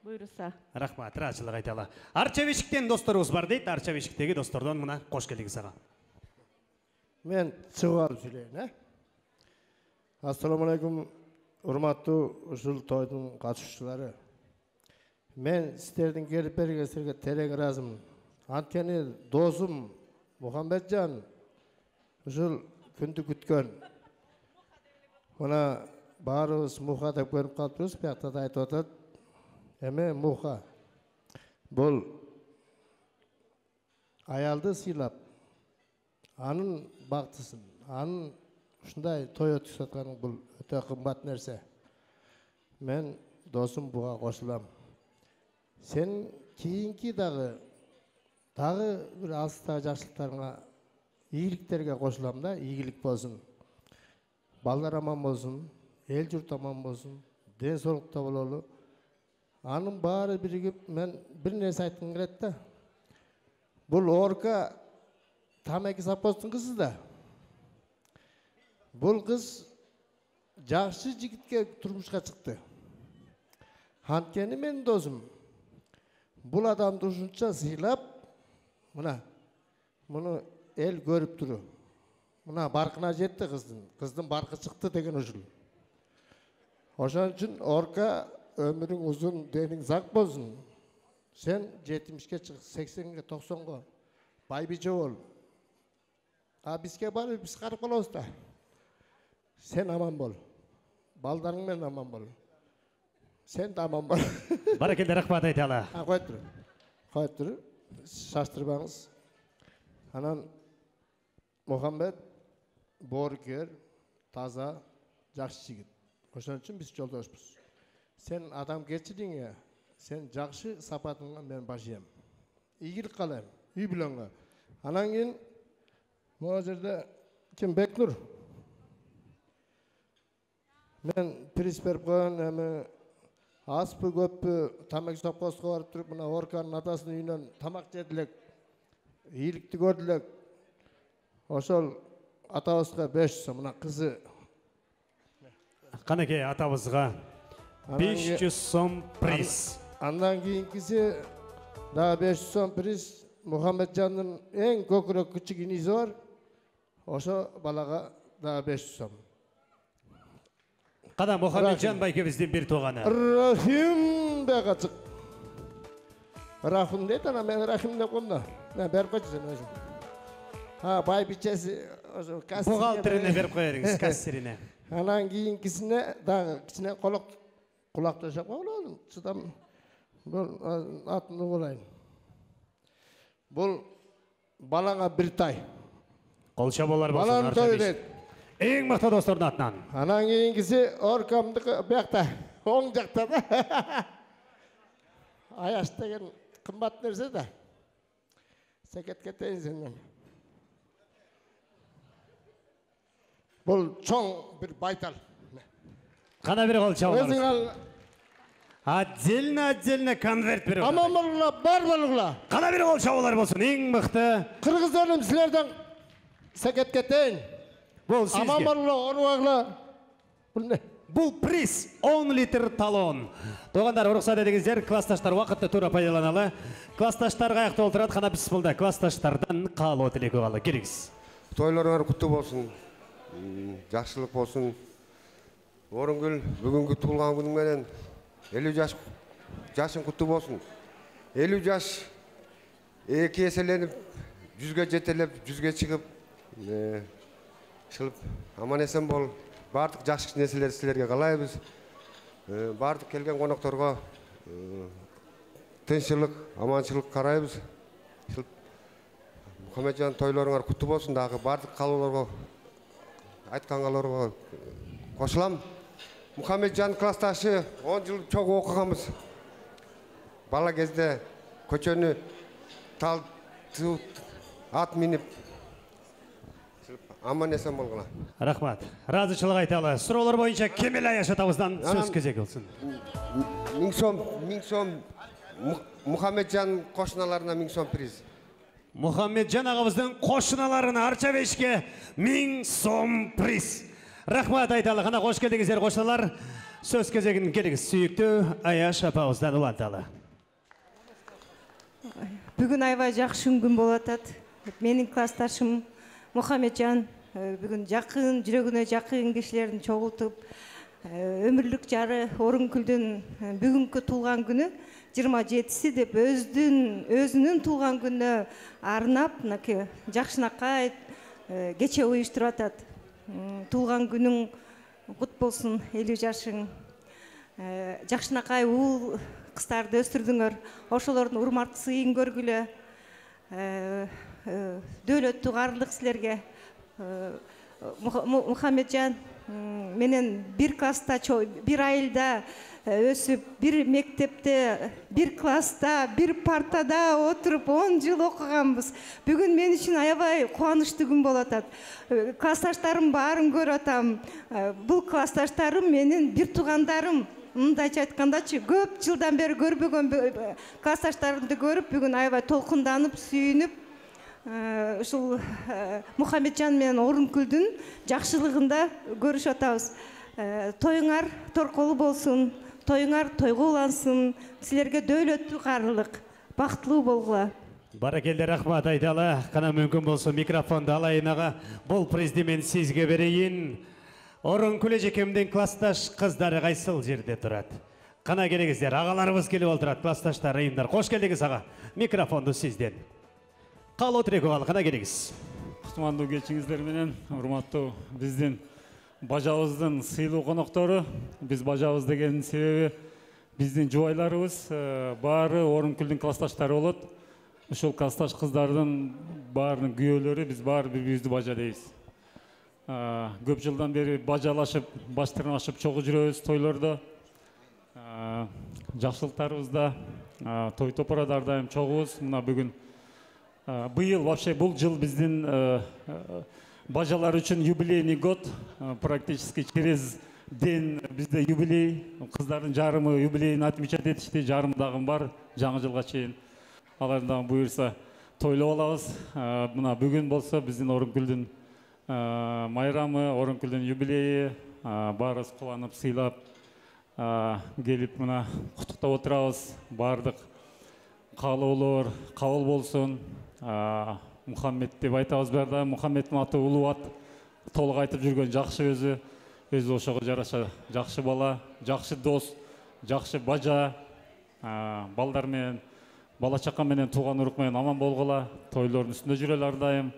буйруса. Рахмат, ыраазычылык айталы. Арча бешиктен досторубуз бар дейт. Арча бешиктеги достордон мына кош келдиңиз ага. Мен чыгып алып сүйлөйүн, Ассаламу алейкум, урматтуу ушул тойдун катышуучулары. Мен сиздердин келип бергениңерге терең ыраазымын. Анткени досум Мухаммеджан ушул күндү күткөн. Мына баарыбыз Муха деп көрүп калыппыз, биякта да айтып атат. Эме Муха бул аялды сыйлап, анын бактысын, анын ушундай той өткүзүп атканы бул өтө кымбат нерсе. Мен досум буга кошулам. Сен кийинки дагы бир алыстагы жакшылыктарыңа, ийгиликтерге кошулам да, ийгилик болсун. Балдар аман болсун, эл журт аман болсун, ден соолукта бололу. Анын баары биригип, мен бир нерсе айткым келет да. Бул Орка Тамеки Сапостун кызы да. Бул кыз жакшы жигитке турмушка чыкты. Анткени менин досум бул адамды ушунча сыйлап, муну эл көрүп туру. Мына баркына жетти кыздын баркы чыкты деген ушул. Ошон үчүн Орка өмүрүң узун, денең зак болсун. Сен 70-ке чык, 80-ге, 90-го байбиче бол. Бизге барып биз карып калабыз да. Сен аман бол. Балдарың менен аман бол. Сен да аман бол. Баракелде, рахмат айталы. Кой тур. Шаштырбаңыз. Анан Мухаммед боорукер, таза, жакшы жигит. Ошон үчүн биз жолдошпуз. Сен адамгерчилигиңе, сен жакшы сапатыңа мен башыйм. Ийгилик каалайм, үй бүлөңгө. Анан кийин могу жерде ким Бекнур? Мен приз берип койгон, эми аспы көппү Тамеки Сапоско барып туруп, мына Орканын атасынын үйүнөн тамак жедилек, ийгиликти көрдүлек. Ошол атабызга 500 сом, мына кызы. Канекей атабызга 500 сом приз. Андан кийинкиси да 500 сом приз. Мухаммеджандын эң көкүрөк кичик иниси бар. Ошо балага да 500 сом. Кана Мухаммеджан байкебиздин бир тууганы. Рахим деп ачык. Рахим дейт, ана мен Рахим деп коем да. Мен берип койчу сен өзүң. Байбичеси ошо кассирине. Бухгалтерине берип коерсиз, кассирине. Анан кийинкисине дагы кичине кулак төшөп койгон. Чыдам. Бул атын угулайын. Бул балаңа бир тай. Кол чабуулар болсун. Балам той дейт. Эң мыкты достордун атынан. Анан кийинкиси Оркамдыкы биякта, оң жакта да. Аяш деген кымбат нерсе да. Секет кетейин сенден. Бул чоң бир байтал. Кана бир кол чабуулар. Өзүң ал. Отдельно конверт берип. Аман болуңла, бар болуңла. Кана бир кол чабуулар болсун, эң мыкты. Кыргыз элим силерден секет кетейин. Бул сизге. Аман болуңла, орубагыла. Бул не? Бул приз 10 литр талон. Туугандар, уруксат этиңиздер, классташтар убакытты туура пайдаланалы. Классташтар каякта олтурат, кана бисмилда. Классташтардан каалоо тилек угалы. Келиңиз. Тойлоруңар куттуу болсун. Жакшылык болсун. Орынгүл бүгүнкү туулган күнүң менен 50 жашың куттуу болсун. 50 жаш эки эселенип, 100га жетелеп, 100га чыгып, шылып аман эсен бол. Бардык жакшы нерселерди силерге каалайбыз. Бардык келген конокторго тынччылык, аманчылык карайбыз. Мухаммеджан тойлоруңар куттуу болсун. Дагы бардык каалоолорго айткангаларга кошулам. Мухаммеджан классташы 10 жыл чогуу окуганбыз. Бала кезде көчөнү тал ат минип аман эсен болгула. Рахмат. Ыраазычылык айталы. Суроолор боюнча Кемел Аяш атабыздан сөз кезеги болсун. 1000 сом Мухаммеджан кошуналарына 1000 сом приз. Мухаммеджан агабыздын кошуналарына арча бешке 1000 сом приз. Рахмат айталы. Кана кош келдиңиздер кошуналар. Сөз кезегин келиңиз. Сүйүктүү Аяш апабыздан уланталы. Бүгүн аябай жакшы күн болуп атат. Менин классташым Мухаммеджан бүгүн жакын, жүрөгүнө жакын кишилерин чогултуп, өмүрлүк жары Орункүлдүн бүгүнкү туулган күнү 27-си деп өзүнүн туулган күнүнө арнап, мынакей жакшынакай кече уюштуруп атат. Туулган күнүң кут болсун, 50 жашың. Жакшынакай уул кыздарды өстүрдүңөр. Ошолордун урматтуу сыйын көргүлө. Дөөлөттүү каарылык силерге. Мухаммеджан менен бир класста, бир айылда өсүп, бир мектепте, бир класста, бир партада отуруп 10 жыл окуганбыз. Бүгүн мен үчүн аябай кубанычтуу күн болуп атат. Классташтарым баарын көрүп атам. Бул классташтарым менин бир туугандарым. Мындайча айткандачы, көп жылдан бери көрбөгөн классташтарымды көрүп, бүгүн аябай толкунданып, сүйүнүп, ушул Мухаммеджан менен Орункүлдүн жакшылыгында көрүшүп атабыз. Тоюңар торколуу болсун, тоюңар тойго улансын, силерге дөөлөттүү каарылык, бактылуу болгула. Баракелде, рахмат айталы. Кана мүмкүн болсо микрофонду алайын ага. Бул призди мен сизге берейин. Орункүл эжекемдин классташ кыздары кайсыл жерде турат? Кана келиңиздер, агаларыбыз келип олтурат, классташтар, ыйымдар. Кош келдиңиз ага. Микрофонду сизден. Калоо тирек ал, кана келиңиз. Кутмандуу кечиңиздер менен, урматтуу биздин бажабыздын сыйлуу коноктору. Биз бажабыз дегенин себеби биздин жубайларыбыз баары Орункүлдүн классташтары болот. Ушул классташ кыздардын баарынын күйөөлөрү, биз баары бири-бирибизди бажа дейбиз. Көп жылдан бери бажалашып, баш тырнашып чогуу жүрөбүз тойлордо. Жакшылыктарыбызда, той топородо ар дайым чогубуз. Мына бүгүн быйыл вообще бул жыл биздин бажалар үчүн юбилейный год. Практически через день бизде юбилей. Кыздардын жарымы юбилейин отмечать этишти, жарымы дагы бар жаңы жылга чейин. Алар дагы буюрса тойлоп алабыз. Мына бүгүн болсо биздин Орункүлдүн майрамы, Орункүлдүн юбилейи, баарыбыз кубанып, сыйлап келип мына куттуктап отурабыз. Баардык каалоолор кабыл болсун. Мухаммед деп айтабыз баарда. Мухаммеддин аты улуу ат. Толук айтып жүргөн жакшы өзү ошого жараша жакшы бала, жакшы дос, жакшы бажа, балдар менен, бала чака менен, тууган урук менен аман болгула. Тойлордун үстүндө жүрөлү ар дайым.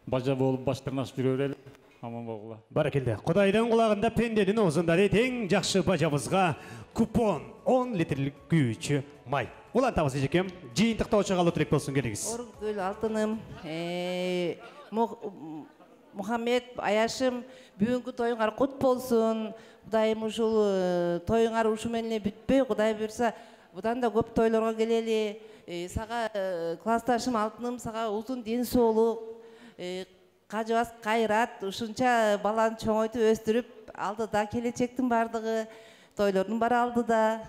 Бажа болуп баш тырнашып жүрө берели. Аман болгула. Баракелде. Кудайдын кулагында пенденин оозунда дейт, эң жакшы бажабызга купон 10 литрлик күйүүчү май. Улантабыз эжекем. Жыйынтыктоочу калуу тирек болсун, келиңиз. Орункүл алтыным, Мухаммед Аяшым, бүгүнкү тоюңар кут болсун. Кудайым ушул тоюңар ушу менен бүтпөй, Кудай буйрса, будан да көп тойлорго келели. Сага классташым алтыным, сага узун ден соолук, кажыбас кайрат, ушунча баланы чоңойтуп өстүрүп, алдыда келечектин бардыгы, тойлордун баары алдыда.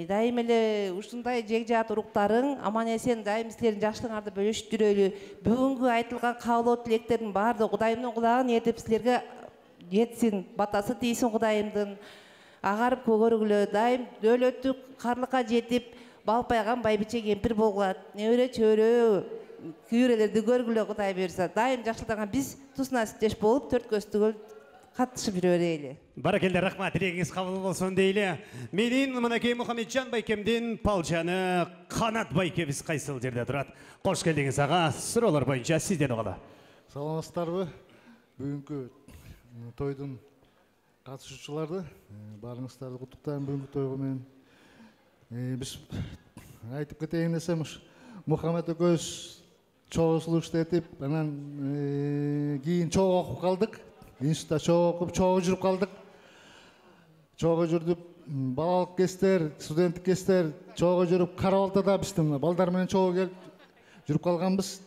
Дайым эле ушундай жегжаат уруктарың аман эсен дайым силердин жакшылыгыңарды бөлүшүп жүрөлү. Бүгүнкү айтылган каалоо тилектердин баардыгы Кудайымдын кулагын ээртип силерге жетсин, батасы тийсин Кудайымдын. Агарып көргүлө, дайым дөөлөттүү карлыкка жетип, балпайган байбиче кемпир болгулат. Небере чөйрө күйрөлөрдү көргүлө, Кудай буйрса. Дайым жакшылыктарга биз тусуна сүттөш болуп, төрт көздүгө катышып жүрө берели. Баракелде, рахмат, тилегиңиз кабыл болсун дейли. Менин мынакей Мухаммеджан байкемдин палчаны Канат байкебиз кайсыл жерде турат? Кош келдиңиз ага. Суроолор боюнча сизден угалы. Саламатсыздарбы? Бүгүнкү тойдун катышуучуларды баарыңыздарды куттуктайм бүгүнкү тойго менен. Биз айтып кетейин десем, Мухаммед экөөбүз чогуу сулуу иштетип, анан кийин чогуу окуп калдык. Институтта чогуу окуп, чогуу жүрүп калдык. Чогуу жүрүп, балалык кездер, студенттик кездер чогуу жүрүп, Карабалтада биздин балдар менен чогуу келип жүрүп калганбыз.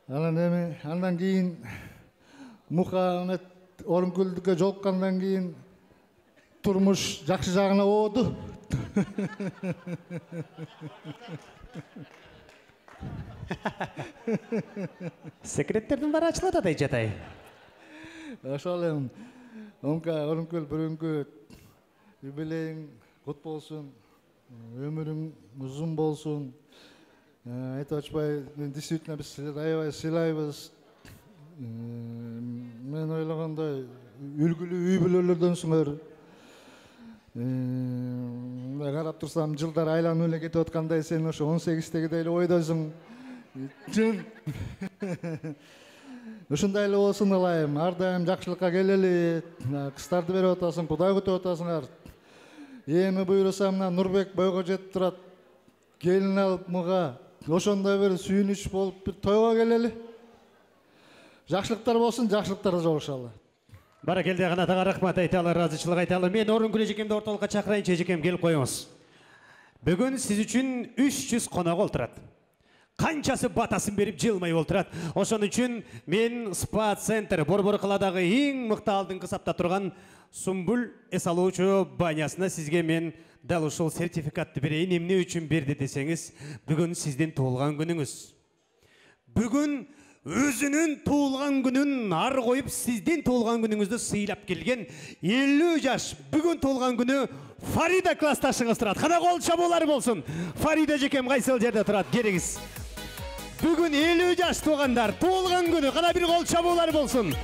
Анан эми андан кийин Мухаммед Орункүлдүккө жолуккандан кийин турмуш жакшы жагына ооду. Секреттердин баары ачылат атай жатай. Ошол эми Орункүл бүгүнкү юбилейиң кут болсун, өмүрүң узун болсун. Айтып ачпай, действительно биз силерди аябай сыйлайбыз. Мен ойлогондой үлгүлүү үй бүлөлөрдөнсүңөр. Карап турсам жылдар айланып эле кетип аткандай, сен ошо 18-тегидей эле ойдосуң. Чын. Ушундай эле болсун ылайым. Ар дайым жакшылыкка келели. Кыздарды берип атасың, Кудай күтүп атасыңар. Эми буйруса мына Нурбек бойго жетип турат. Келин алып муга ошондой бир сүйүнүч болуп бир тойго келели. Жакшылыктар болсун, жакшылыктарда жолугушалы. Баракелде, канатыңа рахмат айталы, ыраазычылык айталы. Мен Орункүл эжекемди ортолукка чакырайынчы, эжекем келип коюңуз. Бүгүн сиз үчүн 300 конок олтурат. Канчасы батасын берип жылмай олтурат. Ошон үчүн мен спа-центр Борбор каладагы эң мыкты алдыңкы сапта турган Сумбул эс алуучу банясына сизге мен дал ушул сертификатты берейин. Эмне үчүн берди десеңиз, бүгүн сиздин туулган күнүңүз. Бүгүн өзүнүн туулган күнүн ар коюп сиздин туулган күнүңүздү сыйлап келген 50 жаш бүгүн туулган күнү Фарида классташыңыз турат. Кана кол чабуулар болсун. Фарида эжекем кайсыл жерде турат? Келиңиз. Бүгүн 50 жаш туугандар туулган күнү. Кана бир кол чабуулар болсун.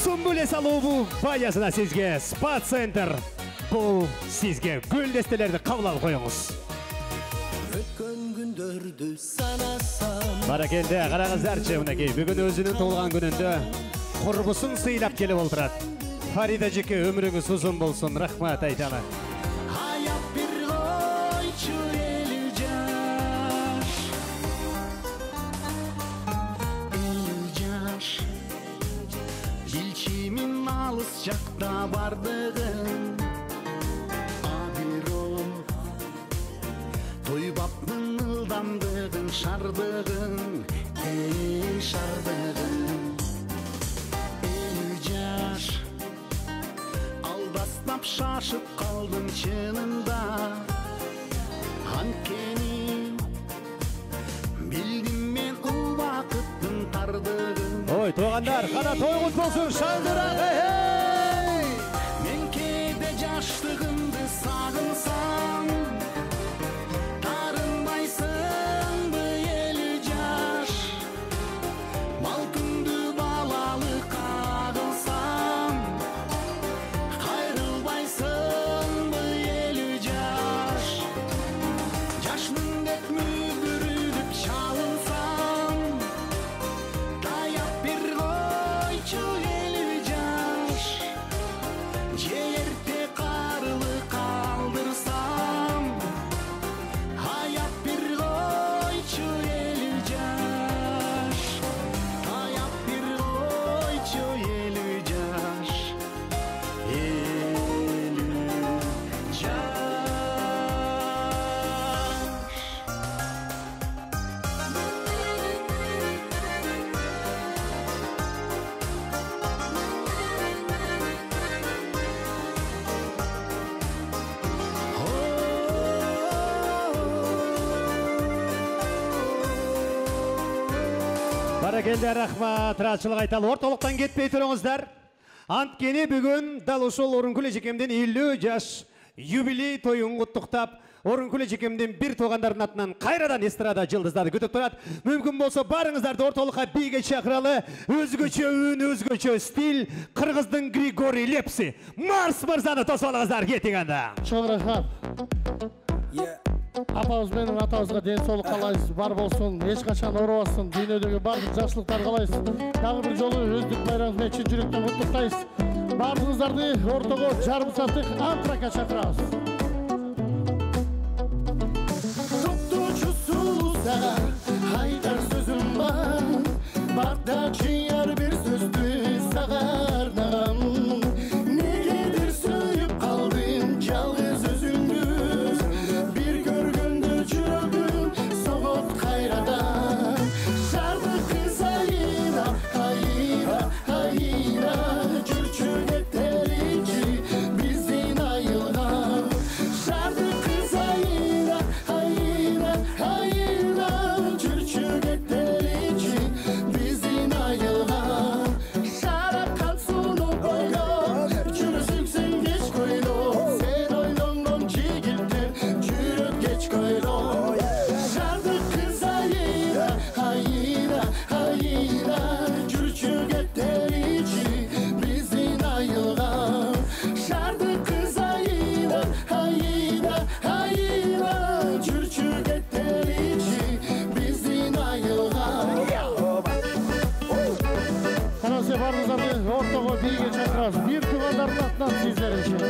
Сумбул эс алуу банясына сизге спа-центр. Бул сизге гүлдестелерди кабыл алып коюңуз. Өткөн күндөрдү санасам. Баракелде, караңыздарчы, мынакей бүгүн өзүнүн туулган күнүндө курбусун сыйлап келип олтурат. Фарида эжеке, өмүрүңүз узун болсун. Рахмат айталы. Аяп бир койчу 50 жаш. 50 жаш. Билчимин алыс жакта бардыгын. Абиром тойбаптын ылдамдыгын, шардыгын, шардыгын. 50 жаш. Алдастап шашып калдым чынында. Анткени билдим мен убакыттын тардыгын. Ой, туугандар, кана тойгуз болсун, шаңдырак. Мен кээде жаштыгымды сагынсам, тарынбайсыңбы 50 жаш. Балкымды балалыкка кылсам, кайрылбайсыңбы 50 жаш. Жашмын деп мүдүрүлүп чалынсам, таяп бир койчу 50 жаш. Же эрте карылык калдырсам, аяп бир койчу 50 жаш. Аяп бир койчу 50 жаш. 50 жаш. Баракелде, рахмат, ыраазычылык айталы. Ортолуктан кетпей туруңуздар. Анткени бүгүн дал ушул Орункүл эжекемдин 50 жаш юбилей тоюн куттуктап, Орункүл эжекемдин бир туугандардын атынан кайрадан эстрада жылдыздары күтүп турат. Мүмкүн болсо барыңыздарды ортолукка бийге чакыралы. Өзгөчө үн, өзгөчө стиль, кыргыздын Григорий Лепси. Марс мырзаны тосуп алыңыздар, кетиң анда. Чоң рахмат. Апабыз менен атабызга ден соолук каалайбыз, бар болсун, эч качан оорубасын, дүйнөдөгү бардык жакшылыктар каалайбыз. Дагы бир жолу өздүк байрамыңыз менен чын жүрөктөн куттуктайбыз. Бардыгыңыздарды ортого жарым сааттык антракка чакырабыз. Токточусу сага айтар сөзүм бар. Барда чыяр бир сөздү сага арнагам. Негедир сүйүп калдым жалгыз өзүңдү. Бир көргөндө жүрөгүм согот кайрадан. Шардык кызайып тойго бийге чакырабыз. Бир туугандардын атынан сиздер үчүн.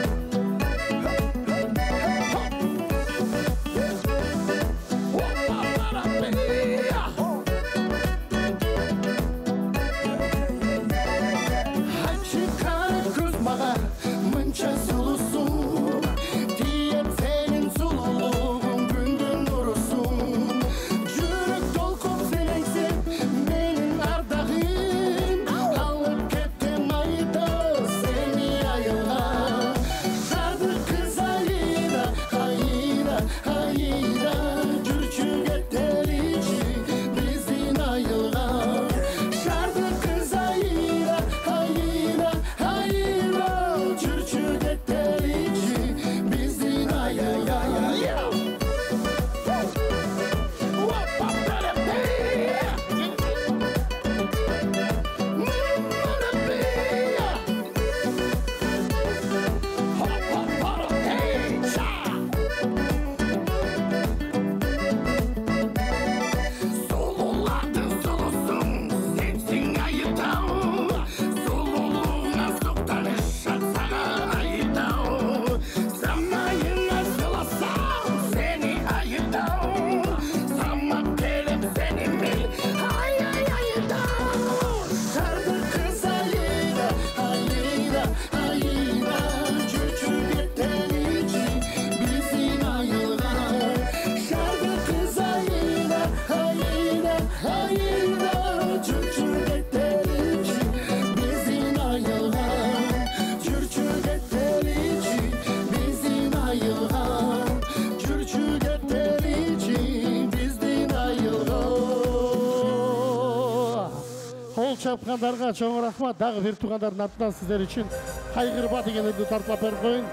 Чапкандарга чоң рахмат. Дагы бир туугандардын атынан сиздер үчүн кайгырба деген үрдү тартылап берип коюн.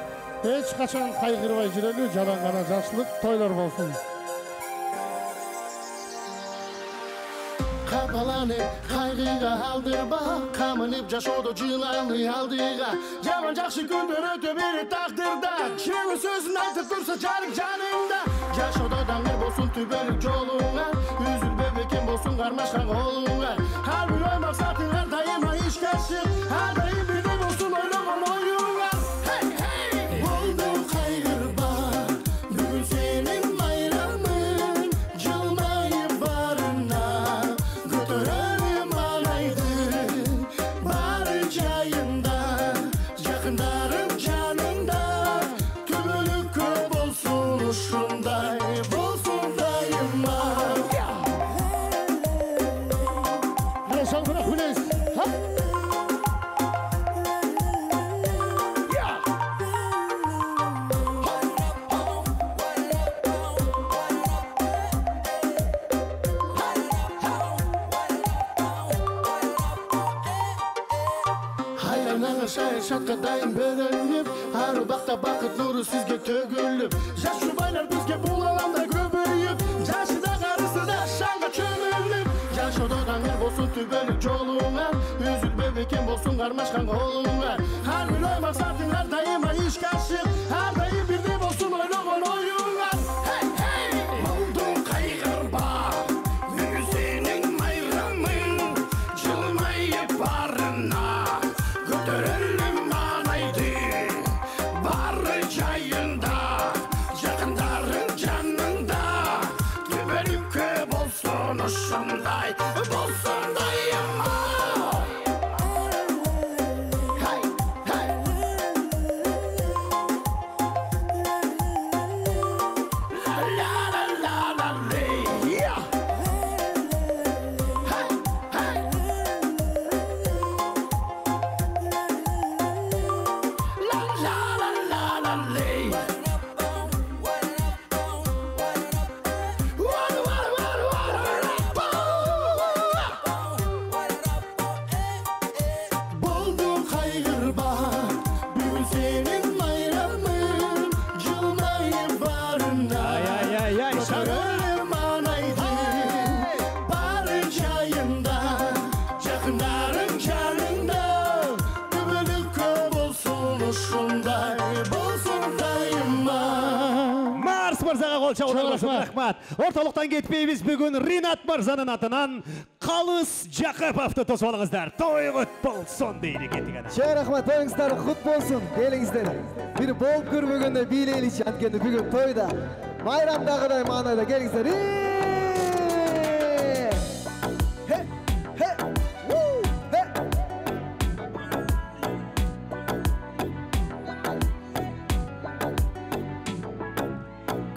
Эч качан кайгырбай жүрөлү, жалаң гана жакшылык тойлор болсун. Капаланып кайгыга алдырба, камынып жашоодо жыланы алдыга. Жаман жакшы күндөр өтө берет тагдырда, чыгуу сөзүн айтып турса жарык жаныңда. Жашоодо даңгыр болсун түбөлүк жолуңа, үзүлбөй бекем болсун кармашкан колуңа. Ар бир ой максатыңар дайыма ишке ашык, ар дайым бирдей болсун ойлогон оюңар. Болду кайгырба, бүгүн сенин байрамың, жылмайып барына, көтөрөлүм анайды, бары жайында, жакындарым жанында, түбөлүккө болсун ушундай, болсун дайыма. Шатка дайым бөлөнүп, ар убакта бакыт нуру сизге төгүлүп, жаш жубайлар бизге бул аламда көбөйүп, жашыда карысыда шаңга чөмүлүп, жашоодо даңгыр болсун түбөлүк жолуңа, үзүлбөй бекем болсун кармашкан колуңа. Ар бир ой максатыңар дайыма ишке ашык, ар дайым бирдей болсун ойлогон оюңар. Болду кайгырба, бүгүн сенин майрамың, жылмайып барына, көтөрөлүм анайды, бары жайында, жакындарың жанында, түбөлүккө болсун ушундай, болсун дайыма. кол чабуулаңыз. Рахмат. Ортолуктан кетпейбиз. Бүгүн Ринат мырзанын атынан Калыс Жакыповду тосуп алыңыздар. Той кут болсун дейли кеттик ана. Чоң рахмат, тоюңуздар кут болсун. Келиңиздер. Бир болуп көрбөгөндө бийлейличи, анткени бүгүн тойда майрамдагыдай маанайда келиңиздер.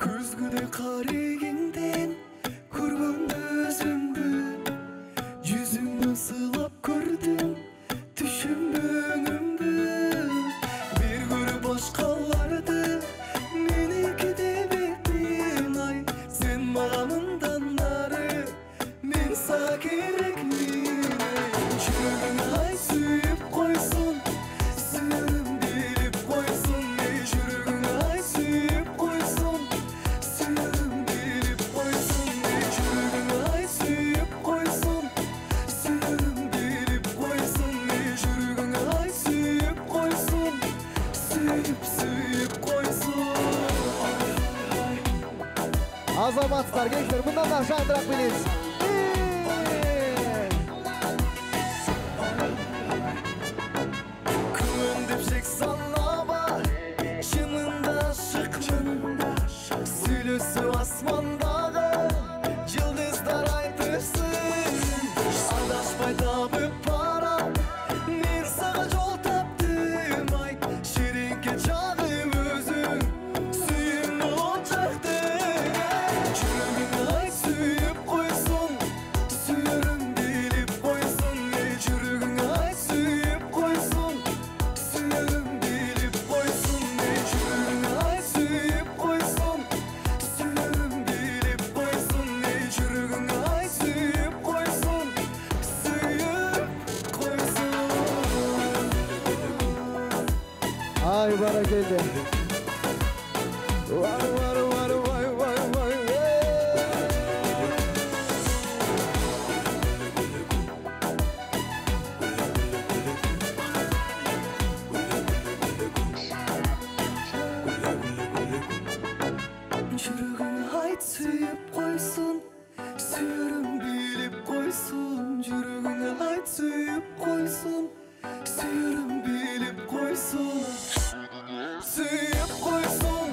Көзгүдө карегиңден көргөндө өзүмдү, жүзүңдөн сыйлап көрдүм түшүмдө өңүмдү. Бир көрүп башкаларды меники деп еттиң, ай сен мага мындан нары, мен сага керекмин. Жүрөгүң ай сүйүп койсун, сүйөрүм билип койсун. Жүрөгүң ай сүйүп койсун, сүйөрүм билип койсун. Жүрөгүң ай сүйүп койсун, сүйөрүм билип койсун. Жүрөгүң ай сүйүп койсун, сүйүп койсун. Азаматсыздар, келиңиздер, мындан да шандыраак билиңиз. Күн деп шек санаба, чынында ашыкмын. Сүйлөсү асмандагы жылдыздар айтышсын. Адашпай табып барам, мен сага жол таптым. Ай шереңке чагып өзүң сүйүүмдү от жактың. Жүрөгүң ай сүйүп койсун, сүйөрүм билип койсун. Жүрөгүң ай сүйүп койсун, сүйөрүм билип койсун. Жүрөгүң ай сүйүп койсун, сүйөрүм билип койсун. Жүрөгүң ай сүйүп койсун, сүйүп койсун. Ай баракелде. Жүрөгүң ай сүйүп койсун, сүйөрүм билип койсун. Жүрөгүң ай сүйүп койсун, сүйөрүм билип койсун. Сүйүп койсун,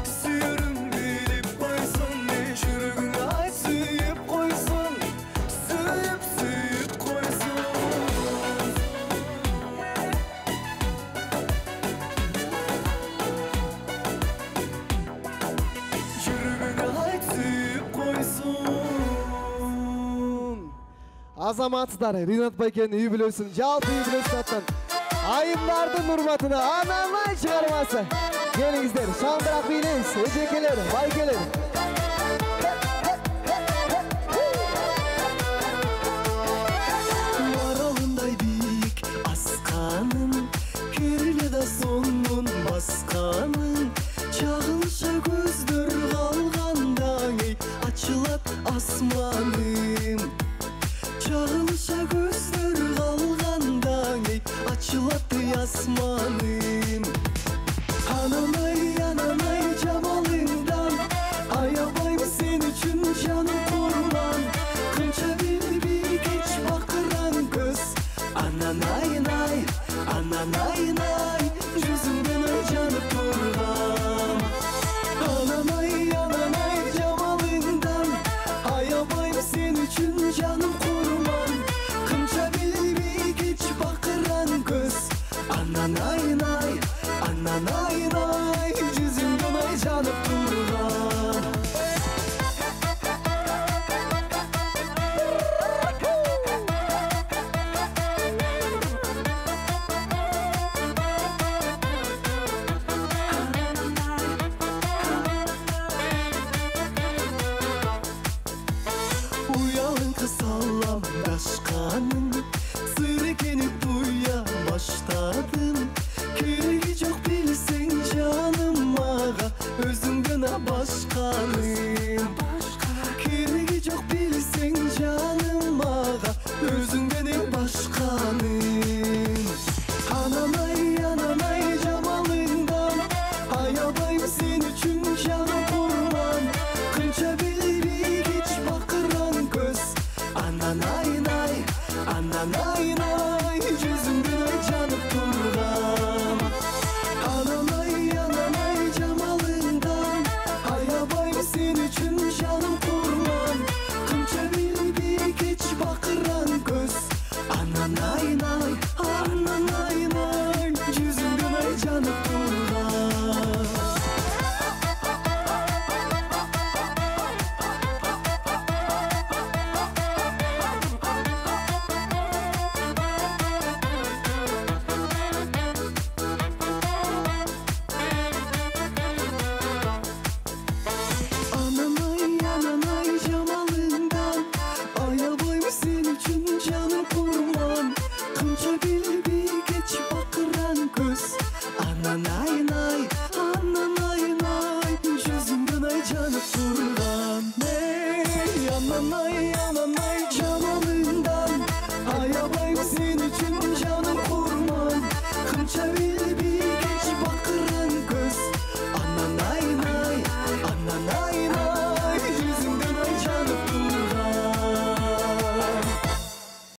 сүйөрүм билип койсун. Жүрөгүң ай сүйүп койсун, сүйүп койсун. Жүрөгүң ай сүйүп койсун. Азаматсыздар, Ринат байкенин үй бүлөсүн, жалпы үй бүлөсүн аттан айымдардын урматына Ананай чыгармасы. Келиңиздер, шандыраак бийлейбиз, эжекелер, байкелер. Маралындай бийик асканын, кериле да сонун басканын. Чагылша көздөр калганда, эй ачылат асманым. Чагылша көздөр калганда, эй ачылат асманым. Ананай жамалыңдан, аябайм сен үчүн жаным курман. Кынча билбей кеч бакыран көз. Ананай, жүзүңдөн ай жанып турган. Ананай жамалыңдан, аябайм сен үчүн жаным курман. Кынча билбей кеч бакыран көз. Ананай, жүзүңдөн ай жанып турган. Уялың кысалам дашканым, сыр экени туя баштадым. Кереги жок билсең жанып турган эй анан